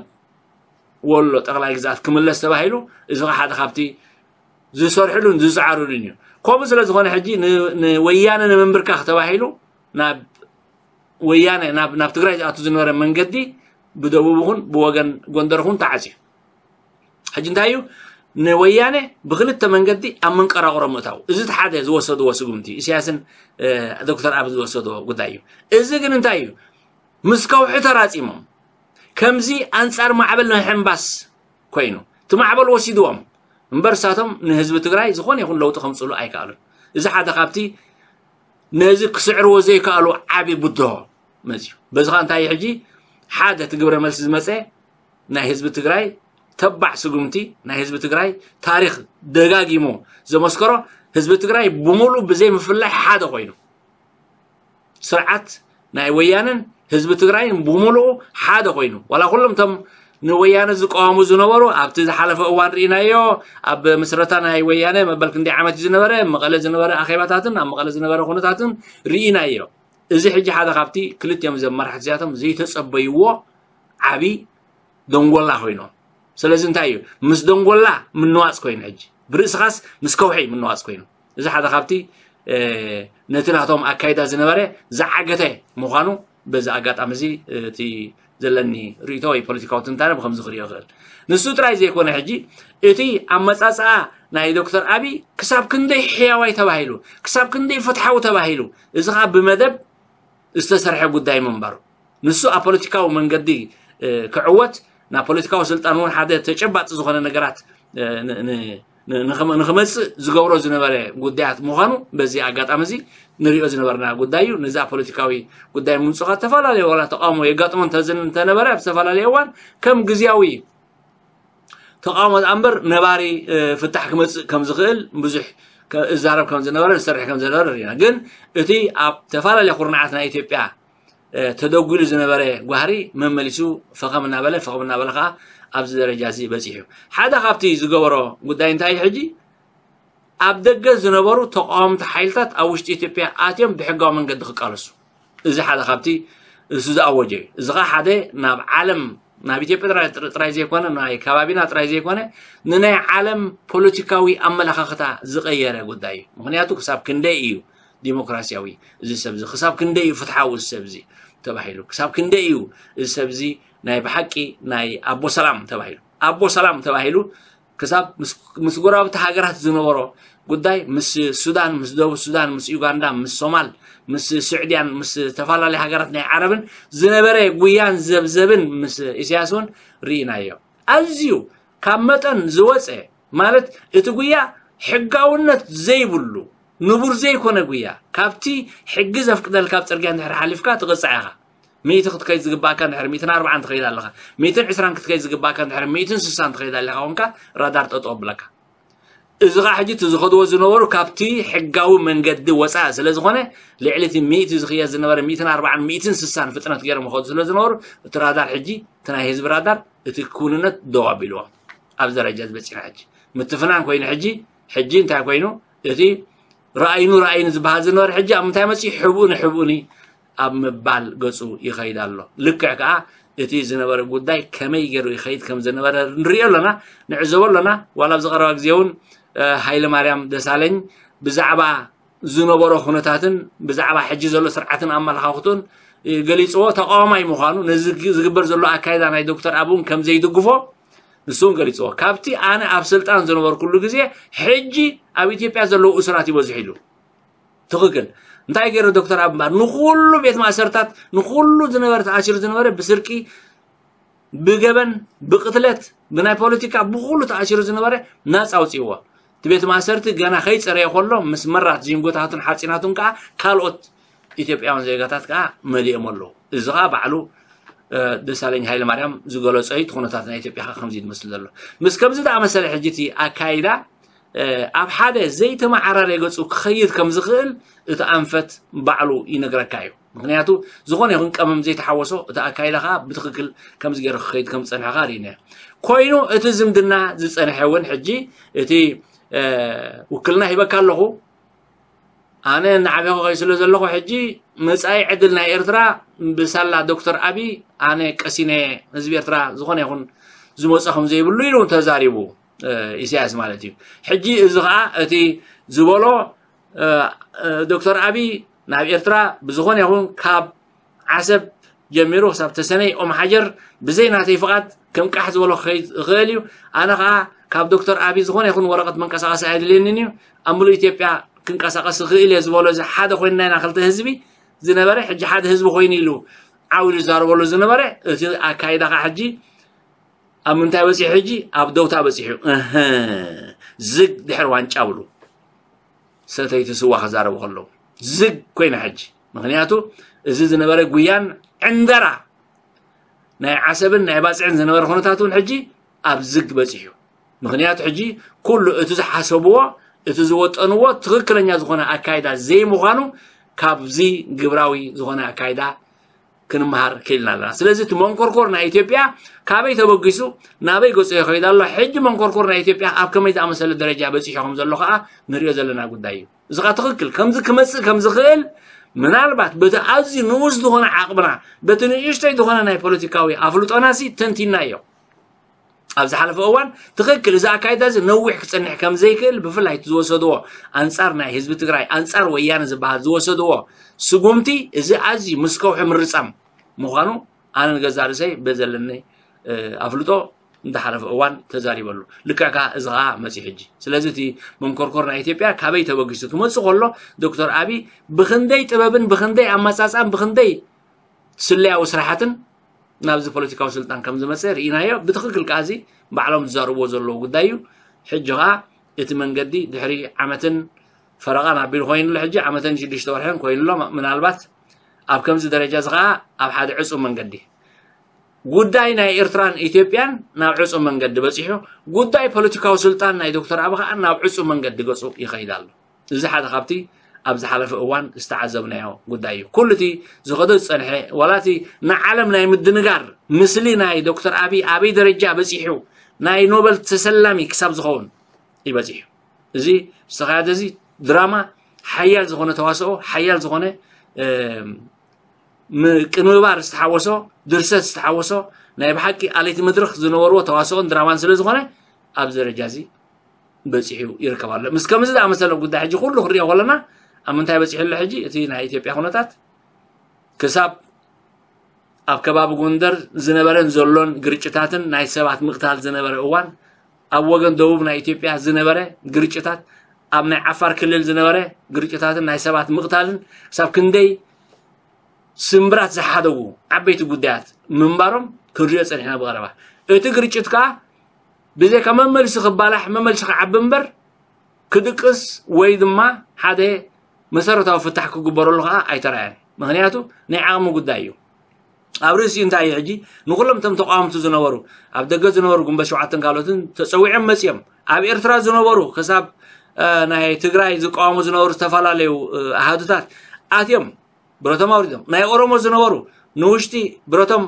ወሎ ጠቕላይ ግዛት ክምለስ ተባሂሉ። እዚ ከዓ ሓደ ካብቲ ዝሰርሕሉን ዝሰዓሩሉን እዩ። ከምኡ ስለ ዝኾነ ሕጂ ንወያነ ንምንብርካኽ ተባሂሉ ናብ ወያነ ናብ ትግራይ ዝኣቱ ዝነበረ መንገዲ ብደቡብ ኹን ብወገን ጎንደር ኹን ተዓፅዩ። ሕጂ እንታይ እዩ ንወያነ ብክልተ መንገዲ ኣብ መንቀራቕሮ ምእታው? እዚ ሓደ ዝወሰድዎ ስጉምቲ ኢሳያስን ዶክተር ኣብ ዝወሰድዎ ጉዳይ እዩ። እዚ ግን እንታይ እዩ ምስ ከውሒ ተራፂሞም ከምዚ ኣንፃር ማዕበል ናይ ሕምባስ ኮይኑ እቲ ማዕበል ወሲድዎም እምበር ሳቶም ንህዝቢ ትግራይ ዝኾነ ይኹን ለውጢ ከምፅሉ ኣይከኣሉን። እዚ ሓደ ካብቲ ነዚ ክስዕርዎ ዘይከኣሉ ዓቢ ብድሆ መፅዩ። በዚ ኸዓ እንታይ እዩ ሕጂ ሓደ እቲ ግብረ መልሲ ዝመፀ ናይ ህዝቢ ትግራይ ተባዕ ስጉምቲ ናይ ህዝቢ ትግራይ ታሪኽ ደጋጊሙ ዘመስከሮ ህዝቢ ትግራይ ብምሉእ ብዘይ ምፍላይ ሓደ ኮይኑ ስርዓት ናይ ወያነን ህዝቢ ትግራይን ብምሉኡ ሓደ ኮይኑ ዋላ ኩሎም እቶም ንወያነ ዝቃወሙ ዝነበሩ ኣብቲ ዝሓለፈ እዋን ርኢናዮ። ኣብ ምስረታ ናይ ወያነ መበል ክንደይ ዓመት እዩ ዝነበረ መቐለ ዝነበረ ኣኼባታትን ኣብ መቐለ ዝነበረ ኩነታትን ርኢናዮ። እዚ ሕጂ ሓደ ካብቲ ክልቲኦም ዘመራሕት እዚኣቶም ዘይተጸበይዎ ዓቢ ደንጎላ ኮይኖም። ስለዚ እንታይ እዩ ምስ ደንጎላ ምንዋጽ ኮይኑ ሕጂ ብርእስኻስ ምስ ከውሒ ምንዋጽ ኮይኑ እዚ ሓደ ካብቲ ነቲ ናቶም ኣካይዳ ዝነበረ ዝዓገተ ምዃኑ በዚ ኣጋጣሚ እዚ እቲ ዘለኒ ርእቶ ወይ ፖለቲካዊ ትንታነ ብከምዚ ክሪኦ ይኽእል። ንሱ ጥራይ ዘይኮነ ሕጂ እቲ ኣመጻጽኣ ናይ ዶክተር ኣብይ ክሳብ ክንደይ ሕያዋይ ተባሂሉ ክሳብ ክንደይ ፍትሓዊ ተባሂሉ እዚ ከዓ ብመደብ ዝተሰርሐ ጉዳይ ምንባሩ ንሱ ኣብ ፖለቲካዊ መንገዲ ክዕወት ናብ ፖለቲካዊ ስልጣን እውን ሓደ ተጨባጢ ዝኾነ ነገራት ንክመፅእ ዝገብሮ ዝነበረ ጉዳያት ምዃኑ በዚ ኣጋጣሚ እዚ ንሪኦ ዝነበርና ጉዳይ እዩ። ነዚ ኣብ ፖለቲካዊ ጉዳይ ምምፅኡ ከዓ ዝተፈላለዩ ዋላ ተቃውሞ የጋጥሞ እንተነበረ ኣብ ዝተፈላለየ እዋን ከም ግዝያዊ ተቃውሞ ዝኣ እምበር ነባሪ ፍታሕ ክመፅእ ከም ዝኽእል ብዙሕ እዛረብ ከም ዝነበረ ዝሰርሕ ከም ዝነበረ ርኢና። ግን እቲ ኣብ ተፈላለየ ኩርናዓት ናይ ኢትዮጵያ ተደጒሉ ዝነበረ ጓህሪ መመሊሱ ፈኸም እናበለ ፈኸም እናበለ ከዓ ኣብዚ ደረጃ እዚ በፂሑ። ሓደ ካብቲ ዝገበሮ ጉዳይ እንታይ እዩ ሕጂ ኣብ ደገ ዝነበሩ ተቃወምቲ ሓይልታት ኣብ ውሽጢ ኢትዮጵያ ኣትዮም ብሕጋዊ መንገዲ ክቃለሱ እዚ ሓደ ካብቲ እሱ ዝኣወጀ እዩ። እዚ ከዓ ሓደ ናብ ዓለም ናብ ኢትዮጵያ ጥራይ ዘይኮነ ናይ ከባቢና ጥራይ ዘይኮነ ንናይ ዓለም ፖለቲካዊ ኣመለኻኽታ ዝቀየረ ጉዳይ እዩ። ምክንያቱ ክሳብ ክንደይ እዩ ዲሞክራሲያዊ እዚ ሰብ እዚ ክሳብ ክንደይ እዩ ፍትሓዊ እዚ ሰብ እዚ ተባሂሉ ክሳብ ክንደይ እዩ እዚ ሰብ እዚ ናይ ብሓቂ ናይ ኣቦ ሰላም ተባሂሉ ኣቦ ሰላም ተባሂሉ ክሳብ ምስ ጎረባብቲ ሃገራት ዝነበሮ ጉዳይ ምስ ሱዳን ምስ ደቡብ ሱዳን ምስ ዩጋንዳ ምስ ሶማል ምስ ስዕድያን ምስ ዝተፈላለዩ ሃገራት ናይ ዓረብን ዝነበረ ጉያን ዘብዘብን ምስ ኢሳያስ እውን ርኢናዮ። ኣዝዩ ካብ መጠን ዝወፀ ማለት እቲ ጉያ ሕጋውነት ዘይብሉ ንቡር ዘይኮነ ጉያ ካብቲ ሕጊ ዘፍቅደልካ ኣብ ፅርግያ እንድሕር ሓሊፍካ ትቕፃዕ ኢኻ። ሚእቲ ክትከይድ ዝግባእካ እንድሕር ሚእትን ኣርባዓን ትኸይድ ኣለኻ። ሚእትን ዕስራን ክትከይድ ዝግባእካ እንድሕር ሚእትን ስሳን ትኸይድ ኣለኻ ኮንካ ራዳር ጠጠው ኣብለካ። እዚ ኸዓ ሕጂ እቲ ዝኸድዎ ዝነበሩ ካብቲ ሕጋዊ መንገዲ ወፃኢ ስለ ዝኾነ ልዕሊ እቲ ሚእቲ ዝኽየድ ዝነበረ ሚእትን ኣርባዓን ሚእትን ስሳን ፍጥነት ገይሮም ይኸዱ ስለ ዝነበሩ እቲ ራዳር ሕጂ እቲ ናይ ህዝቢ ራዳር እቲ ክውንነት ደው ኣቢልዎ ኣብዚ ደረጃ ዝበፂና ሕጂ ምትፍናን ኮይኑ ሕጂ ሕጂ እንታይ ኮይኑ እቲ ረኣይኑ ረኣይኑ ዝበሃል ዝነበረ ሕጂ ኣብ ምንታይ መፂኡ ሕብኡኒ ሕብኡኒ ኣብ ምባል ገፁ ይኸይድ ኣሎ። ልክዕ ከዓ እቲ ዝነበረ ጉዳይ ከመይ ገይሩ ይኸይድ ከም ዝነበረ ንሪኦ ኣለና፣ ንዕዘቦ ኣለና። ዋላ ኣብዚ ቀረባ ግዜ እውን ሃይለ ማርያም ደሳለኝ ብዛዕባ ዝነበሮ ኩነታትን ብዛዕባ ሕጂ ዘሎ ስርዓትን ኣመለኻኽቱን ገሊፅዎ። ተቃዋማይ ምዃኑ ነዚ ዝግበር ዘሎ ኣካይዳ ናይ ዶክተር ኣብ እውን ከም ዘይድግፎ ንሱ እውን ገሊፅዎ። ካብቲ ኣነ ኣብ ስልጣን ዝነበርኩሉ ግዜ ሕጂ ኣብ ኢትዮጵያ ዘለዉ እሱራት ይበዝሑ ኢሉ። ትኽክል። እንታይ ገይሩ ዶክተር ኣብ እምበር ንኩሉ ቤት ማእሰርታት ንኩሉ ዝነበረ ተኣሲሩ ዝነበረ ብስርቂ ብገበን ብቅትለት ብናይ ፖለቲካ ብኩሉ ተኣሲሩ ዝነበረ ናፃ ኣውፅእዎ። እቲ ቤት ማእሰርቲ ገና ከይፀረየ ከሎ ምስ መራት ዚንጎታቱን ሓፂናቱን ከዓ ካልኦት ኢትዮጵያውያን ዜጋታት ከዓ መሊኦም ኣለዉ። እዚ ከዓ ባዕሉ ደሳለኝ ሃይለማርያም ዝገለጾ እዩ። እቲ ኩነታት ናይ ኢትዮጵያ ከ ከምዚ እዩ ዝመስል ዘሎ። ምስ ከምዚ ዝኣመሰለ ሕጂ እቲ ኣካይዳ ኣብ ሓደ ዘይተመዓራረየ ገጹ ክኸይድ ከም ዝኽእል እቲ ኣንፈት ባዕሉ ይነግረካ እዩ። ምክንያቱ ዝኾነ ይኹን ቀመም ዘይተሓወሶ እቲ ኣካይዳ ከዓ ብትኽክል ከምዚ ገይሩ ክኸይድ ከም ዝጸንሐ ከዓ ርኢና እዩ። ኮይኑ እቲ ዝምድና ዝጸንሐ እውን ሕጂ እቲ ውክልና ሂበካ ኣለኹ ኣነ እናዓበኹ ከይ ስለ ዘለኹ ሕጂ መጻኢ ዕድል ናይ ኤርትራ ብሳላ ዶክተር ኣቢ ኣነ ቀሲነ ህዝቢ ኤርትራ ዝኾነ ይኹን ዝመጾ ከም ዘይብሉ ኢሉ ተዛሪቡ ኢሳያስ ማለት እዩ። ሕጂ እዚ ከዓ እቲ ዝበሎ ዶክተር ኣቢ ናብ ኤርትራ ብዝኾነ ይኹን ካብ ዓሰብ ጀሚሩ ክሳብ ተሰነይ ኦም ሓጀር ብዘይ ናተይ ፍቓድ ከም ቃሕ ዝበሎ ክኸይድ ይኽእል እዩ። ኣነ ከዓ ካብ ዶክተር ኣቢ ዝኾነ ይኹን ወረቐት መንቀሳቐሲ ኣይድልየንን እዩ። ኣብ ምሉእ ኢትዮጵያ ክንቀሳቐስ ይኽእል እየ ዝበሎ እዚ ሓደ ኮይንና ኢና ክልተ ህዝቢ ዝነበረ ሕጂ ሓደ ህዝቢ ኮይኑ ኢሉ ዓው ኢሉ ዝዛረበሉ ዝነበረ እቲ ኣካይዳ ከዓ ሕጂ ኣብ ምንታይ በፂሑ ሕጂ ኣብ ደውታ በፂሑ ዝግ ድሕሪ ዋንጫ ብሉ ሰተይቲ ስዋ ክዛረቡ ከለዉ ዝግ ኮይና ሕጂ ምክንያቱ እዚ ዝነበረ ጉያን ዕንደራ ናይ ዓሰብን ናይ ባፅዕን ዝነበረ ኩነታት እውን ሕጂ ኣብ ዝግ በፂሑ ምክንያቱ ሕጂ ኩሉ እቲ ዝሓሰብዎ እቲ ዝወጠንዎ ትኽክለኛ ዝኾነ ኣካይዳ ዘይምዃኑ ካብዚ ግብራዊ ዝኾነ ኣካይዳ ክንመሃር ክኢልና ኣለና ስለዚ እቲ መንኮርኮር ናይ ኢትዮጵያ ካበይ ተበጊሱ ናበይ ገፁ ይኸይድ ኣሎ ሕጂ መንኮርኮር ናይ ኢትዮጵያ ኣብ ከመይ ዝኣመሰለ ደረጃ በፂሑ ከም ዘሎ ከዓ ንሪኦ ዘለና ጉዳይ እዩ እዚ ከዓ ትኽክል ከምዚ ክመፅእ ከም ዝኽእል ምናልባት በቲ ኣዝዩ ንኡስ ዝኾነ ዓቕምና በቲ ንእሽተይ ዝኾነ ናይ ፖለቲካዊ ኣፍልጦና ሲ ተንቲናዮ ኣብ ዝሓለፈ እዋን ትኽክል እዚ ኣካይዳ እዚ ነዊሕ ክፀንሕ ከም ዘይክእል ብፍላይ እቲ ዝወሰድዎ ኣንፃር ናይ ህዝቢ ትግራይ ኣንፃር ወያነ ዝበሃል ዝወሰድዎ ስጉምቲ እዚ ኣዝዩ ምስ ከውሒ ምርፃም ምዃኑ ኣነ ንገዛእ ርእሰይ በዘለኒ ኣፍልጦ እንዳሓለፈ እዋን ተዛሪበሉ ልክዕ ከዓ እዚ ከዓ መፂ ሕጂ ስለዚ እቲ መንኮርኮር ናይ ኢትዮጵያ ካበይ ተበጊሱ ክመፅእ ከሎ ዶክተር ኣቢ ብክንደይ ጥበብን ብክንደይ ኣመፃፃን ብክንደይ ስለያዊ ስራሓትን ናብዚ ፖለቲካዊ ስልጣን ከም ዝመፀ ርኢናዮ ብትክክል ከዓ እዚ ባዕሎም ዝዛረብዎ ዘለዉ ጉዳይ እዩ ሕጂ ከዓ እቲ መንገዲ ድሕሪ ዓመትን ፈረቓን ኣቢሉ ኮይኑሎ ሕጂ ዓመትን ሽዱሽተ ወርሕን ኮይኑሎ ምናልባት ኣብ ከምዚ ደረጃ እዚ ከዓ ኣብ ሓደ ዕፁ መንገዲ ጉዳይ ናይ ኤርትራን ኢትዮጵያን ናብ ዕፁ መንገዲ በፂሑ ጉዳይ ፖለቲካዊ ስልጣን ናይ ዶክተር ኣቢ ከዓ ናብ ዕፁ መንገዲ ገፁ ይኸይድ ኣሎ እዚ ሓደ ካብቲ ኣብ ዝሓለፈ እዋን ዝተዓዘብናዮ ጉዳይ እዩ ኩሉ እቲ ዝኸዶ ዝፀንሐ ዋላ እቲ ንዓለም ናይ ምድንጋር ምስሊ ናይ ዶክተር ኣቢ ኣበይ ደረጃ በፂሑ ናይ ኖበል ተሰላሚ ክሳብ ዝኸውን ይበፂሑ እዚ ዝተኻየደ እዚ ድራማ ሓያል ዝኾነ ተዋስኦ ሓያል ዝኾነ ምቅንብባር ዝተሓወሶ ድርሰት ዝተሓወሶ ናይ ብሓቂ ኣለይቲ መድረኽ ዝነበርዎ ተዋስኦን ድራማን ስለ ዝኾነ ኣብዚ ደረጃ እዚ በፂሑ ይርከብ ኣሎ ምስ ከምዚ ዝኣመሰለ ጉዳይ ሕጂ ኩሉ ክንሪኦ ከለና ኣብ ምንታይ በፂሑ ኣሎ ሕጂ እቲ ናይ ኢትዮጵያ ኩነታት ክሳብ ኣብ ከባቢ ጎንደር ዝነበረን ዘሎን ግርጭታትን ናይ ሰባት ምቕታል ዝነበረ እዋን ኣብ ወገን ደቡብ ናይ ኢትዮጵያ ዝነበረ ግርጭታት ኣብ ናይ ዓፋር ክልል ዝነበረ ግርጭታትን ናይ ሰባት ምቕታልን ክሳብ ክንደይ ስምብራት ዝሓደጉ ዓበይቲ ጉዳያት ምንባሮም ክንሪኦ ፀኒሕና ብቐረባ እቲ ግርጭት ከዓ ብዘይካ መመልሲ ክባላሕ መመልሲ ክዓቢ እምበር ክድቅስ ወይ ድማ ሓደ መሰረታዊ ፍታሕ ክግበረሉ ከዓ ኣይተራእየን ምክንያቱ ናይ ዓቕሚ ጉዳይ እዩ ኣብ ርእሲኡ እንታይ እዩ ሕጂ ንኩሎም እቶም ተቃወምቲ ዝነበሩ ኣብ ደገ ዝነበሩ ግንቦት ሸውዓተን ካልኦትን ተፀዊዖም መፅኦም ኣብ ኤርትራ ዝነበሩ ክሳብ ናይ ትግራይ ዝቃወሙ ዝነበሩ ዝተፈላለዩ ኣሃዱታት ኣትዮም ብረቶም ኣውሪዶም ናይ ኦሮሞ ዝነበሩ ንውሽጢ ብረቶም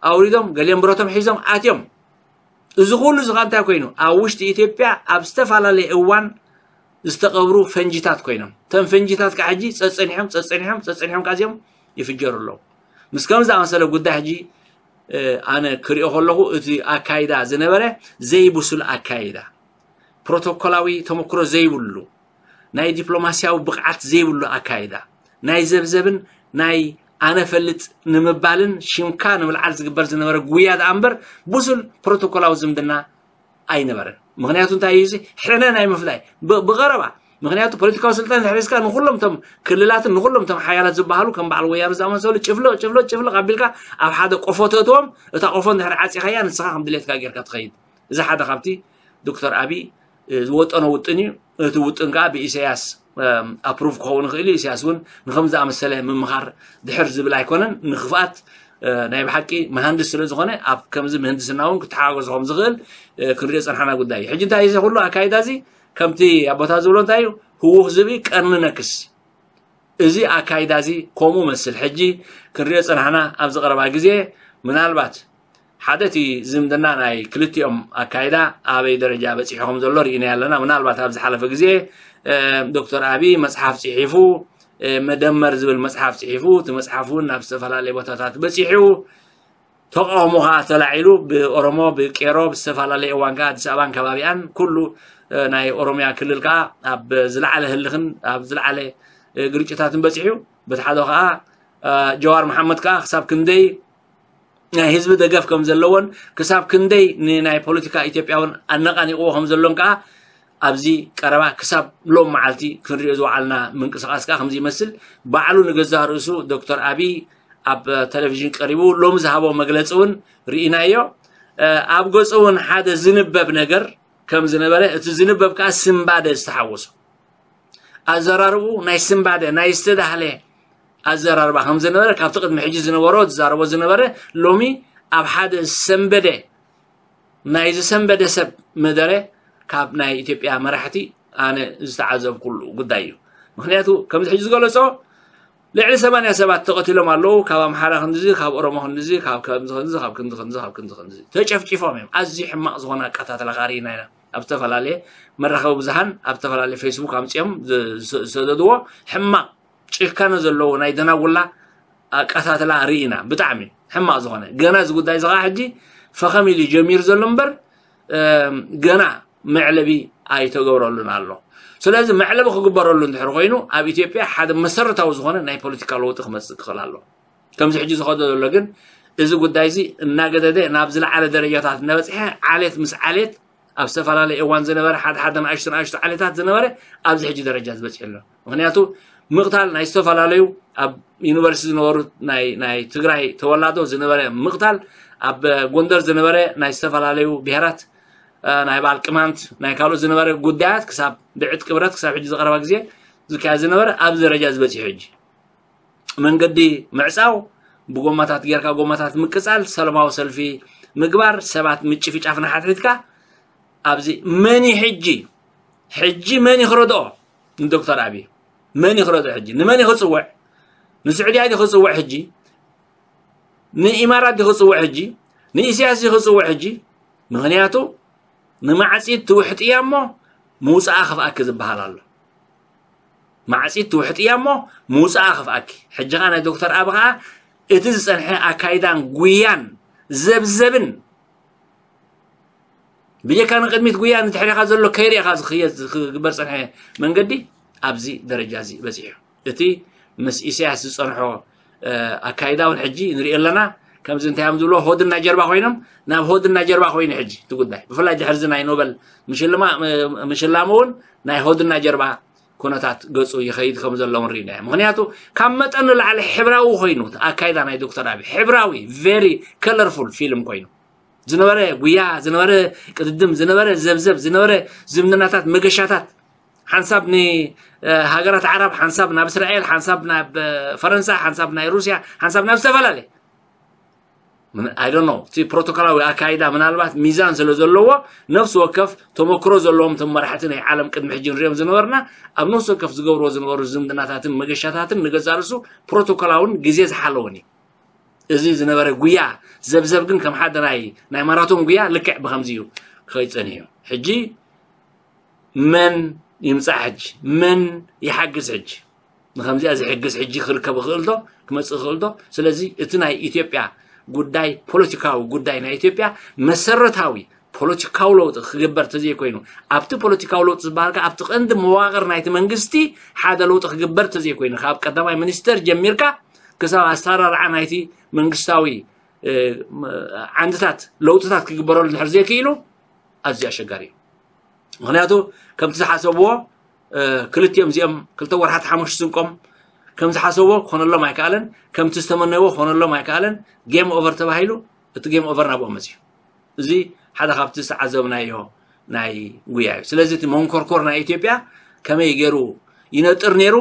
ኣውሪዶም ገሊኦም ብረቶም ሒዞም ኣትዮም እዚ ኩሉ እዚ እንታይ ኮይኑ ኣብ ውሽጢ ኢትዮጵያ ኣብ ዝተፈላለየ እዋን ዝተቐብሩ ፈንጂታት ኮይኖም እተን ፈንጂታት ከዓ ሕጂ ፀፀኒሖም ፀፀኒሖም ፀፀኒሖም ቃዚኦም ይፍጀሩ ኣለዉ ምስ ከም ዝኣመሰለ ጉዳይ ሕጂ ኣነ ክሪኦ ከለኹ እቲ ኣካይዳ ዝነበረ ዘይብሱል ኣካይዳ ፕሮቶኮላዊ ተመክሮ ዘይብሉ ናይ ዲፕሎማስያዊ ብቕዓት ዘይብሉ ኣካይዳ ናይ ዘብዘብን ናይ ኣነ ፈልጥ ንምባልን ሽምካ ንምልዓል ዝግበር ዝነበረ ጉያ ደኣ እምበር ብሱል ፕሮቶኮላዊ ዝምድና ኣይነበረን ምክንያቱ እንታይ እዩ ሕነ ናይ ምፍላይ ብቐረባ ምክንያቱ ፖለቲካዊ ስልጣን ድሕሪዝካ ንኩሎም ቶም ክልላትን ንኩሎም ቶም ሓያላት ዝበሃሉ ከም በዓል ወያነ ዝኣመሰሉ ጭፍልቕ ጭፍልቕ ጭፍልቕ ኣቢልካ ኣብ ሓደ ቆፎ ተእትዎም እታ ቆፎ እንድሕር ዓፂኻያ ንስኻ ከም ድሌትካ ጌርካ ትኸይድ እዚ ሓደ ካብቲ ዶክተር ኣቢ ዝወጠኖ ውጥን እዩ እቲ ውጥን ከዓ ብኢሳያስ ኣፕሩቭ ክኸውን ይኽእል እዩ ኢሳያስ እውን ንከም ዝኣመሰለ ምምኻር ድሕር ዝብል ኣይኮነን ንክፍኣት ናይ ብሓቂ መሃንድስ ስለ ዝኾነ ኣብ ከምዚ ምህንድስና እውን ክተሓጋገዙ ከም ዝኽእል ክንሪኦ ጸንሓና ጉዳይ እዩ። ሕጂ እንታይ እዚ ኩሉ ኣካይዳ እዚ ከምቲ ኣቦታት ዝብሎ እንታይ እዩ? ህውኽ ዝብኢ ቀርኒ ነክስ። እዚ ኣካይዳ እዚ ከምኡ መስል ሕጂ ክንሪኦ ጸንሓና ኣብዚ ቀረባ ግዜ ምናልባት ሓደ እቲ ዝምድና ናይ ክልቲኦም ኣካይዳ ኣበይ ደረጃ በጺሑ ከም ዘሎ ርኢና ኣለና። ምናልባት ኣብ ዝሓለፈ ግዜ ዶክተር ኣብይ መጽሓፍ ጽሒፉ መደመር ዝብል መጽሓፍ ጽሒፉ እቲ መጽሓፍ እውን ናብ ዝተፈላለየ ቦታታት በጺሑ ተቃውሞ ከዓ ተላዒሉ ብኦሮሞ ብቄሮ ብዝተፈላለየ እዋን ከዓ ኣዲስ ኣበባን ከባቢኣን ኩሉ ናይ ኦሮሚያ ክልል ከዓ ኣብ ዝለዓለ ህልኽን ኣብ ዝለዓለ ግርጭታትን በጺሑ በቲ ሓደ ከዓ ጀዋር መሓመድ ከዓ ክሳብ ክንደይ ናይ ህዝቢ ደገፍ ከም ዘለዎን ክሳብ ክንደይ ንናይ ፖለቲካ ኢትዮጵያ እውን ኣነቃኒቅዎ ከም ዘሎን ከዓ ኣብዚ ቀረባ ክሳብ ሎም መዓልቲ ክንሪኦ ዝወዓልና ምንቅስቃስ ከዓ ከምዚ ይመስል። ባዕሉ ንገዛእ ርእሱ ዶክተር ኣብይ ኣብ ቴሌቪዥን ቀሪቡ ሎም ዝሃቦ መግለፂ እውን ርኢናዮ። ኣብ ገፁ እውን ሓደ ዝንበብ ነገር ከም ዝነበረ እቲ ዝንበብ ከዓ ስንባደ ዝተሓወሶ ኣዘራርቡ ናይ ስንባደ ናይ ዝተዳህለ ኣዘራርባ ከም ዝነበረ ካብቲ ቅድሚ ሕጂ ዝነበሮ ዝዛረቦ ዝነበረ ሎሚ ኣብ ሓደ ሰንበደ ናይ ዝሰንበደ ሰብ መደረ ካብ ናይ ኢትዮጵያ መራሕቲ ኣነ ዝተዓዘብኩሉ ጉዳይ እዩ። ምክንያቱ ከምዚ ሕጂ ዝገለጾ ልዕሊ ሰማንያ ሰባት ተቐቲሎም ኣለዉ። ካብ ኣምሓራ ክንድዚ ካብ ኦሮሞ ክንድዚ ካብ ከምዚ ክንዚ ካብ ክንዲ ክንዚ ካብ ክንዲ ክንዚ ተጨፍጭፎም እዮም። ኣዝዩ ሕማቕ ዝኾነ ኣቀታትላ ካሪና ኢና ኣብ ዝተፈላለየ መራኸቢ ብዙሃን ኣብ ዝተፈላለየ ፌስቡክ ኣምፅኦም ዝሰደድዎ ሕማቕ ጭካነ ዘለዎ ናይ ደናጉላ ኣቀታትላ ርኢና ብጣዕሚ ሕማቕ ዝኾነ ገና እዚ ጉዳይ እዚ ከዓ ሕጂ ፈኸም ኢሉ ጀሚሩ ዘሎ እምበር ገና መዕለቢ ኣይተገብረሉን ኣሎ። ስለዚ መዕለቢ ክግበረሉ እንድሕር ኮይኑ ኣብ ኢትዮጵያ ሓደ መሰረታዊ ዝኾነ ናይ ፖለቲካ ለውጢ ክመፅእ ክኽእል ኣሎ። ከምዚ ሕጂ ዝኸዶ ዘሎ ግን እዚ ጉዳይ እዚ እናገደደ ናብ ዝለዓለ ደረጃታት እናበፅሐ ዓሌት ምስ ዓሌት ኣብ ዝተፈላለየ እዋን ዝነበረ ሓደ ሓደ ንኣሽቱ ንኣሽቱ ዓሌታት ዝነበረ ኣብዚ ሕጂ ደረጃ ዝበፅሐ ኣሎ። ምክንያቱ ምቕታል ናይ ዝተፈላለዩ ኣብ ዩኒቨርሲቲ ዝነበሩ ናይ ትግራይ ተወላዶ ዝነበረ ምቕታል ኣብ ጎንደር ዝነበረ ናይ ዝተፈላለዩ ብሄራት ናይ በዓል ቅማንት ናይ ካልኦት ዝነበረ ጉዳያት ክሳብ ብዕጥቂ ብረት ክሳብ ሕጂ ዝቀረባ ግዜ ዝካየድ ዝነበረ ኣብዚ ደረጃ ዝበፅሑ ሕጂ መንገዲ ምዕፃው ብጎማታት ጌርካ ጎማታት ምቅፃል ሰለማዊ ሰልፊ ምግባር ሰባት ምጭፍጫፍ ንሓትሒትካ ኣብዚ መን እዩ ሕጂ ሕጂ መን እዩ ክረድኦ ንዶክተር ኣብይ መን እዩ ክረድኦ ሕጂ ንመን እዩ ክፅውዕ ንስዑድያ ድዩ ክፅውዕ ሕጂ ንኢማራት ድዩ ክፅውዕ ሕጂ ንኢሳያስ ድዩ ክፅውዕ ሕጂ ምክንያቱ ንማዕፂት ትውሕጥያ እሞ ምውፃኣ ክፍኣኪ ዝበሃል ኣሎ ማዕፂት ትውሕጥያ እሞ ምውፃኣ ክፍኣኪ ሕጂ ከዓ ናይ ዶክተር ኣብ ከዓ እቲ ዝፀንሐ ኣካይዳን ጉያን ዘብዘብን ብጀካ ንቅድሚት ጉያ ንድሕሪኻ ዘሎ ከይርኢኻ ዝኽየድ ዝግበር ፀንሐ መንገዲ ኣብዚ ደረጃ እዚ በፂሑ እቲ ምስ ኢሳያስ ዝፀንሖ ኣካይዳ እውን ሕጂ ንሪኦ ኣለና ከምዚ እንታይ እዮም ዝብሎ ሆድና ጀርባ ኮይኖም ናብ ሆድና ጀርባ ኮይኑ ሕጂ እቲ ጉዳይ ብፍላይ ድሕርዚ ናይ ኖበል ምሽላሙ እውን ናይ ሆድና ጀርባ ኩነታት ገፁ ይኸይድ ከም ዘሎ እውን ርኢና ምክንያቱ ካብ መጠን ንላዕሊ ሕብራዊ ኮይኑ ኣካይዳ ናይ ዶክተር ኣብይ ሕብራዊ very colorful film ኮይኑ ዝነበረ ጉያ ዝነበረ ቅድድም ዝነበረ ዘብዘብ ዝነበረ ዝምድናታት መገሻታት ሓንሳብ ንሃገራት ዓረብ ሓንሳብ ናብ እስራኤል ሓንሳብ ናብ ፈረንሳ ሓንሳብ ናይ ሩስያ ሓንሳብ ናብ ዝተፈላለየ I don't know እቲ ፕሮቶኮላዊ ኣካይዳ ምናልባት ሚዛን ስለ ዘለዎ ነፍሲ ወከፍ ተመክሮ ዘለዎም እቶም መራሕቲ ናይ ዓለም ቅድሚ ሕጂ ንሪኦም ዝነበርና ኣብ ነፍሲ ወከፍ ዝገብርዎ ዝነበሩ ዝምድናታትን መገሻታትን ንገዛእ ርእሱ ፕሮቶኮላውን ግዜ ዝሓለወን እዩ እዚ ዝነበረ ጉያ ዘብዘብ ግን ከም ሓደ ናይ ናይ ማራቶን ጉያ ልክዕ ብከምዚ እዩ ክኸይድ ጸኒሑ ሕጂ መን ይምጻእ ሕጂ መን ይሓግዝ ሕጂ ንከምዚኣ ዝሕግዝ ሕጂ ክርከብ ይኽእል ዶ ክመጽእ ይኽእል ዶ ስለዚ እቲ ናይ ኢትዮጵያ ጉዳይ ፖለቲካዊ ጉዳይ ናይ ኢትዮጵያ መሰረታዊ ፖለቲካዊ ለውጢ ክግበር ተዘይኮይኑ ኣብቲ ፖለቲካዊ ለውጢ ዝበሃል ከኣ ኣብቲ ቀንዲ መዋቕር ናይቲ መንግስቲ ሓደ ለውጢ ክግበር ተዘይኮይኑ ካብ ቀዳማይ ሚኒስተር ጀሚርካ ክሳብ ኣሰራርዓ ናይቲ መንግስታዊ ዓንድታት ለውጥታት ክግበረሉ እንድሕር ዘይክኢሉ ኣዝዩ ኣሸጋሪ እዩ ምክንያቱ ከምቲ ዝሓሰብዎ ክልቲኦም እዚኦም ክልተ ወርሓት ሓሙሽተ ስንቆም ከም ዝሓሰብዎ ክኾነሎም ኣይከኣለን ከምቲ ዝተመነይዎ ክኾነሎም ኣይከኣለን game over ተባሂሉ እቲ game over ናብኦም መፅዩ እዚ ሓደ ካብቲ ዝተዓዘብናዮ ናይ ጉያ እዩ ስለዚ እቲ መንኮርኮር ናይ ኢትዮጵያ ከመይ ገይሩ ይነጥር ነይሩ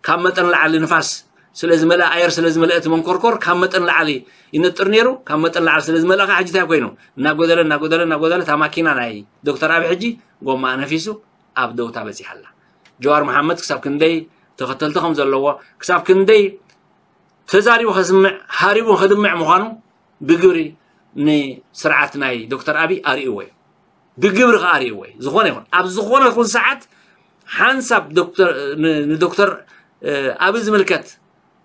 ካብ መጠን ላዕሊ ንፋስ ስለ ዝመልአ ኣየር ስለ ዝመልአ እቲ መንኮርኮር ካብ መጠን ላዕሊ ይነጥር ነይሩ። ካብ መጠን ላዕሊ ስለ ዝመልአ ከዓ ሕጂ እንታይ ኮይኑ እናጎደለ እናጎደለ እናጎደለ እታ ማኪና ናይ ዶክተር ኣቢ ሕጂ ጎማ ነፊሱ ኣብ ደውታ በፂሓ ኣላ። ጀዋር መሓመድ ክሳብ ክንደይ ተኸተልቲ ከም ዘለዎ፣ ክሳብ ክንደይ ተዛሪቡ ከስምዕ ሃሪቡ ከድምዕ ምዃኑ ብግብሪ ንስርዓት ናይ ዶክተር ኣቢ ኣርእይዎ እዩ። ብግብሪ ከኣ ኣርእይዎ እዩ። ዝኾነ ይኹን ኣብ ዝኾነ ይኹን ሰዓት ሓንሳብ ዶክተር ን- ንዶክተር ኣቢ ዝምልከት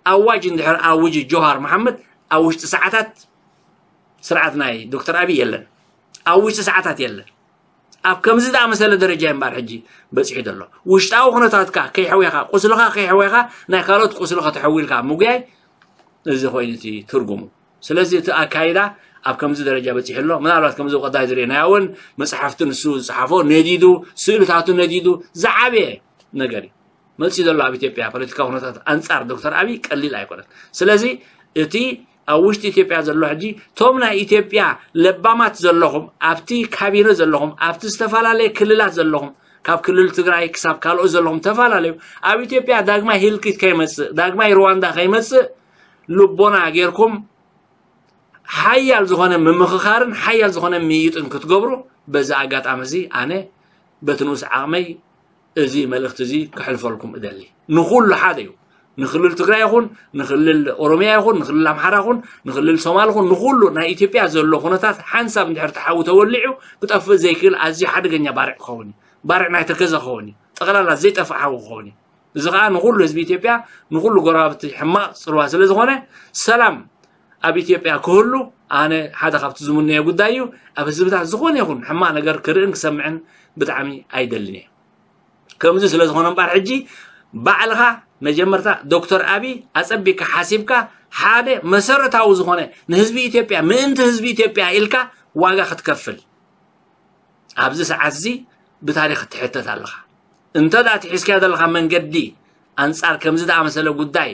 ኣዋጅ እንድሕር ኣውጅ ጆሃር መሓመድ ኣብ ውሽጢ ሰዓታት ስርዓት ናይ ዶክተር ኣቢ የለን። ኣብ ውሽጢ ሰዓታት የለን። ኣብ ከምዚ ዝኣመሰለ ደረጃ እምበር ሕጂ በፂሑ ዘሎ። ውሽጣዊ ኩነታትካ ከይሕወኻ፣ ቁስልኻ ከይሕወኻ ናይ ካልኦት ቁስሊ ከተሕዊ ኢልካ ምጉያይ፣ እዚ ኮይኑ እቲ ትርጉሙ። ስለዚ እቲ ኣካይዳ ኣብ ከምዚ ደረጃ በፂሑ ኣሎ። ምናልባት ከምዚ ቀዳይ ዝርኤናዮ እውን መፅሓፍቲ ንሱ ዝፀሓፎ ነዲዱ፣ ስእልታቱ ነዲዱ ዝዓበየ ነገር እዩ መፂኡ ዘሎ ኣብ ኢትዮጵያ ፖለቲካዊ ኩነታት ኣንፃር ዶክተር ኣቢ ቀሊል ኣይኮነን። ስለዚ እቲ ኣብ ውሽጢ ኢትዮጵያ ዘሎ ሕጂ እቶም ናይ ኢትዮጵያ ለባማት ዘለኹም ኣብቲ ካቢነ ዘለኹም ኣብቲ ዝተፈላለየ ክልላት ዘለኹም ካብ ክልል ትግራይ ክሳብ ካልኦት ዘለኹም ተፈላለዩ ኣብ ኢትዮጵያ ዳግማይ ህልቂት ከይመፅእ ዳግማይ ሩዋንዳ ከይመፅእ ልቦና ጌርኩም ሓያል ዝኾነ ምምኽኻርን ሓያል ዝኾነ ምይይጥን ክትገብሩ በዚ ኣጋጣሚ እዚ ኣነ በቲ ንኡስ ዓቕመይ እዚ መልእኽቲ እዚ ክሕልፈልኩም እደሊ። ንኹሉ ሓደ እዩ። ንክልል ትግራይ ይኹን ንክልል ኦሮሚያ ይኹን ንክልል ኣምሓራ ይኹን ንክልል ሶማል ይኹን ንኹሉ ናይ ኢትዮጵያ ዘሎ ኩነታት ሓንሳብ እንድሕር ተሓዊ ተወሊዑ ክጠፍእ ዘይክእል ኣዝዩ ሓደገኛ ባርዕ ክኸውን እዩ። ባርዕ ናይ ተከዘ ክኸውን እዩ። ጠቕላላ ዘይጠፍእ ሓዊ ክኸውን እዩ። እዚ ከዓ ንኹሉ ህዝቢ ኢትዮጵያ ንኹሉ ጎረባብቲ ሕማቕ ፅልዋ ስለ ዝኾነ ሰላም ኣብ ኢትዮጵያ ክህሉ ኣነ ሓደ ካብቲ ዝምነዮ ጉዳይ እዩ። ኣብ ህዝብታት ዝኾነ ይኹን ሕማቕ ነገር ክርእን ክሰምዕን ብጣዕሚ ኣይደልን እየ። ከምዚ ስለ ዝኾነ እምበኣር ሕጂ ባዕልኻ መጀመርታ ዶክተር ኣቢ ኣጸቢካ ሓሲብካ ሓደ መሰረታዊ ዝኾነ ንህዝቢ ኢትዮጵያ ምእንቲ ህዝቢ ኢትዮጵያ ኢልካ ዋጋ ክትከፍል ኣብዚ ሰዓት እዚ ብታሪኽ ትሕተት ኣለኻ። እንተ ደኣ እቲ ሒዝካዮ ዘለኻ መንገዲ ኣንጻር ከምዚ ደኣመሰለ ጉዳይ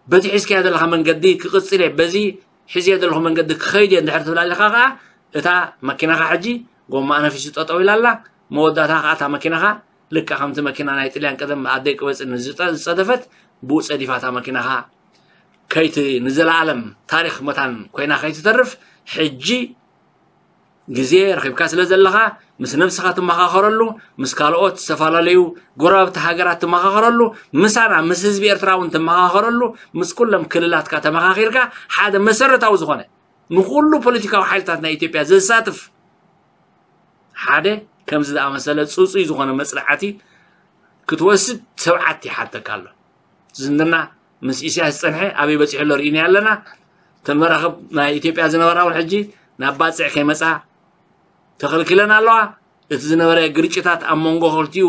በቲ ሒዝካዮ ዘለኻ መንገዲ ክቕጽል እየ፣ በዚ ሒዝዮ ዘለኹ መንገዲ ክኸይድ እየ እንድሕር ትብል ኣለኻ ኸኣ እታ መኪናኻ ሕጂ ጎማኣ ነፊሱ ጠጠው ኢላ ኣላ። መወዳእታ ኸኣ እታ መኪናኻ ልክዕ ከምቲ መኪና ናይ ጥልያን ቀደም ኣደይ ቅበጽ ንዝጸ- ዝጸደፈት ብኡ ጸዲፋ እታ መኪናኻ ከይቲ ንዘለኣለም ታሪኽ መታን ኮይና ከይትተርፍ ሕጂ ግዜ ረኺብካ ስለ ዘለኻ ምስ ነብስኻ ትመኻኸረሉ ምስ ካልኦት ዝተፈላለዩ ጎረባብቲ ሃገራት ትመኻኸረሉ ምሳና ምስ ህዝቢ ኤርትራ እውን ትመኻኸረሉ ምስ ኩሎም ክልላትካ ተመኻኺርካ ሓደ መሰረታዊ ዝኾነ ንኹሉ ፖለቲካዊ ሓይልታት ናይ ኢትዮጵያ ዘሳትፍ ሓደ ከምዚ ዝኣመሰለ ፅፁይ ዝኾነ መፅናዕቲ ክትወስድ ትብዓት ይሓተካ ኣሎ። ዝምድና ምስ ኢሳያስ ዝፀንሐ ኣበይ በፂሑ ኣሎ ርኢና ኣለና። እተን መራኽብ ናይ ኢትዮጵያ ዝነበራ እውን ሕጂ ናብ ባፅዕ ከይመፃ ተኸልኪለን ኣለዋ። እቲ ዝነበረ ግርጭታት ኣብ መንጎ ክልቲኡ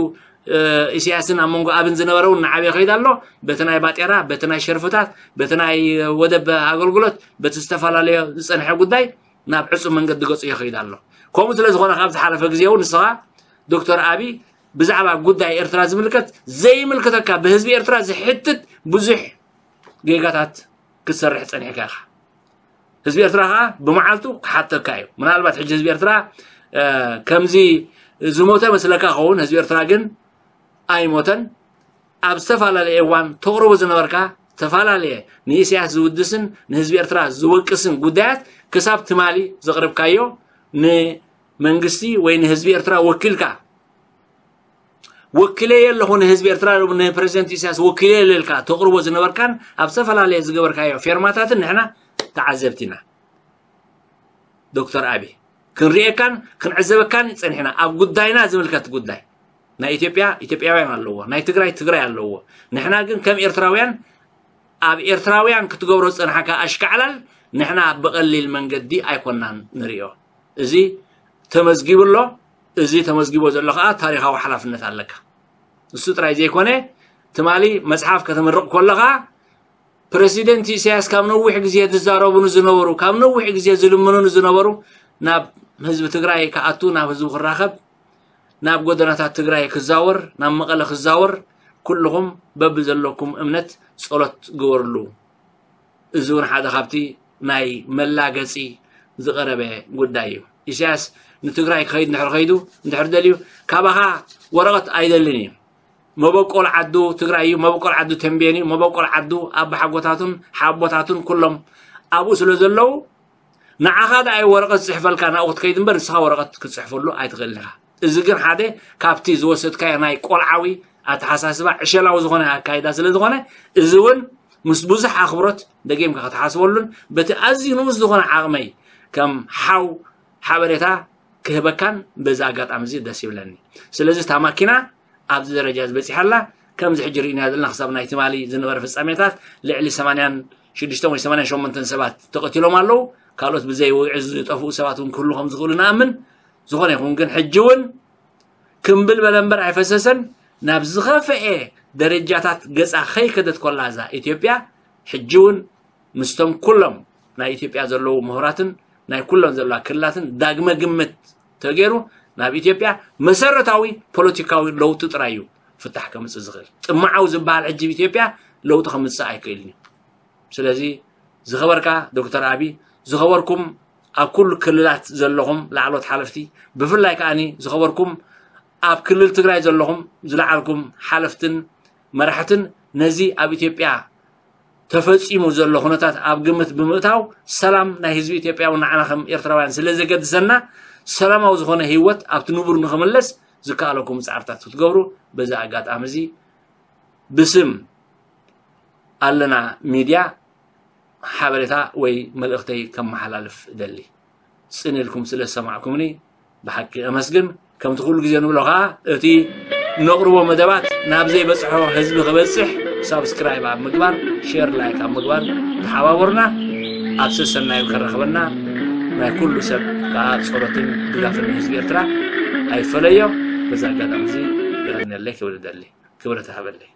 ኢሳያስን ኣብ መንጎ ኣብን ዝነበረ እውን እናዓበየ ከይድ ኣሎ። በቲ ናይ ባጤራ፣ በቲ ናይ ሸርፍታት፣ በቲ ናይ ወደብ ኣገልግሎት፣ በቲ ዝተፈላለየ ዝፀንሐ ጉዳይ ናብ ዕፁብ መንገዲ ገፁ ይኸይድ ኣሎ። ከምኡ ስለ ዝኾነ ካብ ዝሓለፈ ግዜ እውን ንስኻ ዶክተር ኣቢ ብዛዕባ ጉዳይ ኤርትራ ዝምልከት ዘይምልከተካ ብህዝቢ ኤርትራ ዝሕትት ብዙሕ ጌጋታት ክትሰርሕ ጸኒሕካ ኢኻ። ህዝቢ ኤርትራ ከዓ ብመዓልቱ ክሓተካ እዩ። ምናልባት ሕጂ ህዝቢ ኤርትራ ከምዚ ዝሞተ መስለካ ኸውን፣ ህዝቢ ኤርትራ ግን ኣይሞተን። ኣብ ዝተፈላለየ እዋን ተቕርቦ ዝነበርካ ዝተፈላለየ ንኢሳያስ ዝውድስን ንህዝቢ ኤርትራ ዝወቅስን ጉዳያት ክሳብ ትማሊ ዘቕርብካዮ ንመንግስቲ ወይ ንህዝቢ ኤርትራ ወኪልካ ወኪለየ ኣለኹ ንህዝቢ ኤርትራ ንፕረዚደንት ኢሳያስ ወኪለየ ኣለልካ ተቕርቦ ዝነበርካን ኣብ ዝተፈላለየ ዝገበርካዮ ፌርማታትን ንሕና ተዓዘብቲ ኢና። ዶክተር ኣቢ ክንርእየካን ክንዕዘበካን ጸኒሕና ኣብ ጉዳይና ዝምልከት ጉዳይ ናይ ኢትዮጵያ ኢትዮጵያውያን ኣለዎ፣ ናይ ትግራይ ትግራይ ኣለዎ። ንሕና ግን ከም ኤርትራውያን ኣብ ኤርትራውያን ክትገብሮ ዝጸንሓካ ኣሽካዕላል ንሕና ብቐሊል መንገዲ ኣይኮናን ንርእዮ። እዚ ተመዝጊቡ ኣሎ። እዚ ተመዝጊቦ ዘሎ ከዓ ታሪኻዊ ሓላፍነት ኣለካ። እሱ ጥራይ ዘይኮነ ትማሊ መጽሓፍ ከተምርቕ ከለኻ ፕረሲደንት ኢሳያስ ካብ ነዊሕ ግዜ ዝዛረቡኑ ዝነበሩ ካብ ነዊሕ ግዜ ዝልምኑኑ ዝነበሩ ናብ ህዝቢ ትግራይ ክኣቱ ናብ ህዝቡ ክራኸብ ናብ ጎደናታት ትግራይ ክዛወር ናብ መቐለ ክዛወር ኩልኹም በብዘለኩም እምነት ጸሎት ግበርሉ። እዚ እውን ሓደ ካብቲ ናይ መላገፂ ዝቐረበ ጉዳይ እዩ። ኢሳያስ ንትግራይ ክኸይድ እንድሕር ከይዱ እንድሕር ደልዩ ካባኻ ወረቐት ኣይደልን እዩ። መበቆል ዓዱ ትግራይ እዩ፣ መበቆል ዓዱ ተንቤን እዩ፣ መበቆል ዓዱ ኣባሓጎታቱን ሓቦታቱን ኩሎም ኣብኡ ስለ ዘለዉ፣ ንዓኻ ደኣ እዩ ወረቐት ዝጽሕፈልካ ናብኡ ክትከይድ እምበር፣ ንስኻ ወረቐት ክትጽሕፈሉ ኣይትኽእልን ኢኻ። እዚ ግን ሓደ ካብቲ ዝወሰድካዮ ናይ ቆልዓዊ ኣተሓሳስባ፣ ዕሸላዊ ዝኾነ ኣካይዳ ስለ ዝኾነ፣ እዚ እውን ምስ ብዙሕ ኣኽብሮት ደጊምካ ክትሓስበሉን፣ በቲ ኣዝዩ ንኡስ ዝኾነ ዓቕመይ ከም ሓው ሓበሬታ ክህበካን በዚ ኣጋጣሚ እዚ ደስ ይብለኒ። ስለዚ እታ ማኪና ኣብዚ ደረጃ ዝበፂሓላ፣ ከምዚ ሕጂ ርኢና ዘለና ክሳብ ናይ ትማሊ ዝነበረ ፍጻሜታት ልዕሊ ሰማንያን ሽዱሽተን ወይ ሰማንያን ሸሞንተን ሰባት ተቐቲሎም ኣለዉ። ካልኦት ብዘይ ውግዒ ዝጠፍኡ ሰባት እውን ክህሉ ከም ዝኽእሉ ንኣምን። ዝኾነ ይኹን ግን ሕጂ እውን ክምብል በለ እምበር ኣይፈሰሰን። ናብ ዝኸፍኤ ደረጃታት ገጻ ከይከደት ኮላ እዛ ኢትዮጵያ፣ ሕጂ እውን ምስቶም ኩሎም ናይ ኢትዮጵያ ዘለዉ ምሁራትን ናይ ኩሎም ዘለዋ ክልላትን ዳግመ ግምት ተገይሩ ናብ ኢትዮጵያ መሰረታዊ ፖለቲካዊ ለውጢ ጥራይ እዩ ፍታሕ ከምጽእ ዝኽእል። ጥምዓው ዝበሃል ሕጂ ኣብ ኢትዮጵያ ለውጢ ከምጽእ ኣይክእልን እዩ። ስለዚ ዝኸበርካ ዶክተር ኣቢ፣ ዝኸበርኩም ኣብ ኩሉ ክልላት ዘለኹም ላዕሎት ሓለፍቲ፣ ብፍላይ ከኣኒ ዝኸበርኩም ኣብ ክልል ትግራይ ዘለኹም ዝለዓልኩም ሓለፍትን መራሕትን፣ ነዚ ኣብ ኢትዮጵያ ተፈጺሙ ዘሎ ኩነታት ኣብ ግምት ብምእታው፣ ሰላም ናይ ህዝቢ ኢትዮጵያ እውን ንዓና ከም ኤርትራውያን ስለ ዘገድሰና፣ ሰላማዊ ዝኾነ ህይወት ኣብቲ ንቡር ንኽምለስ ዝከኣለኩም ጻዕርታት ክትገብሩ በዚ ኣጋጣሚ እዚ ብስም ኣለና ሚድያ ሓበሬታ ወይ መልእኽተይ ከመሓላልፍ እደሊ። ጽን ኢልኩም ስለ ዝሰማዕኩምኒ ብሓቂ ኣመስግን። ከምቲ ኩሉ ግዜ ንብሎ ከኣ፣ እቲ ነቕርቦ መደባት ናብ ዘይበጽሖ ህዝቢ ክበጽሕ ሳብስክራይብ ኣብ ምግባር፣ ሼር፣ ላይክ ኣብ ምግባር ተሓባበሩና። ኣብ ሰሰናዩ ከራኽበና ናይ ኩሉ ሰብ ከኣ ጸሎትን ድጋፍን ህዝቢ ኤርትራ ኣይፈለዮ። በዚ ኣጋጣሚ እዚ የቐንየለይ ክብል እደሊ። ክብረት ይሃበለይ።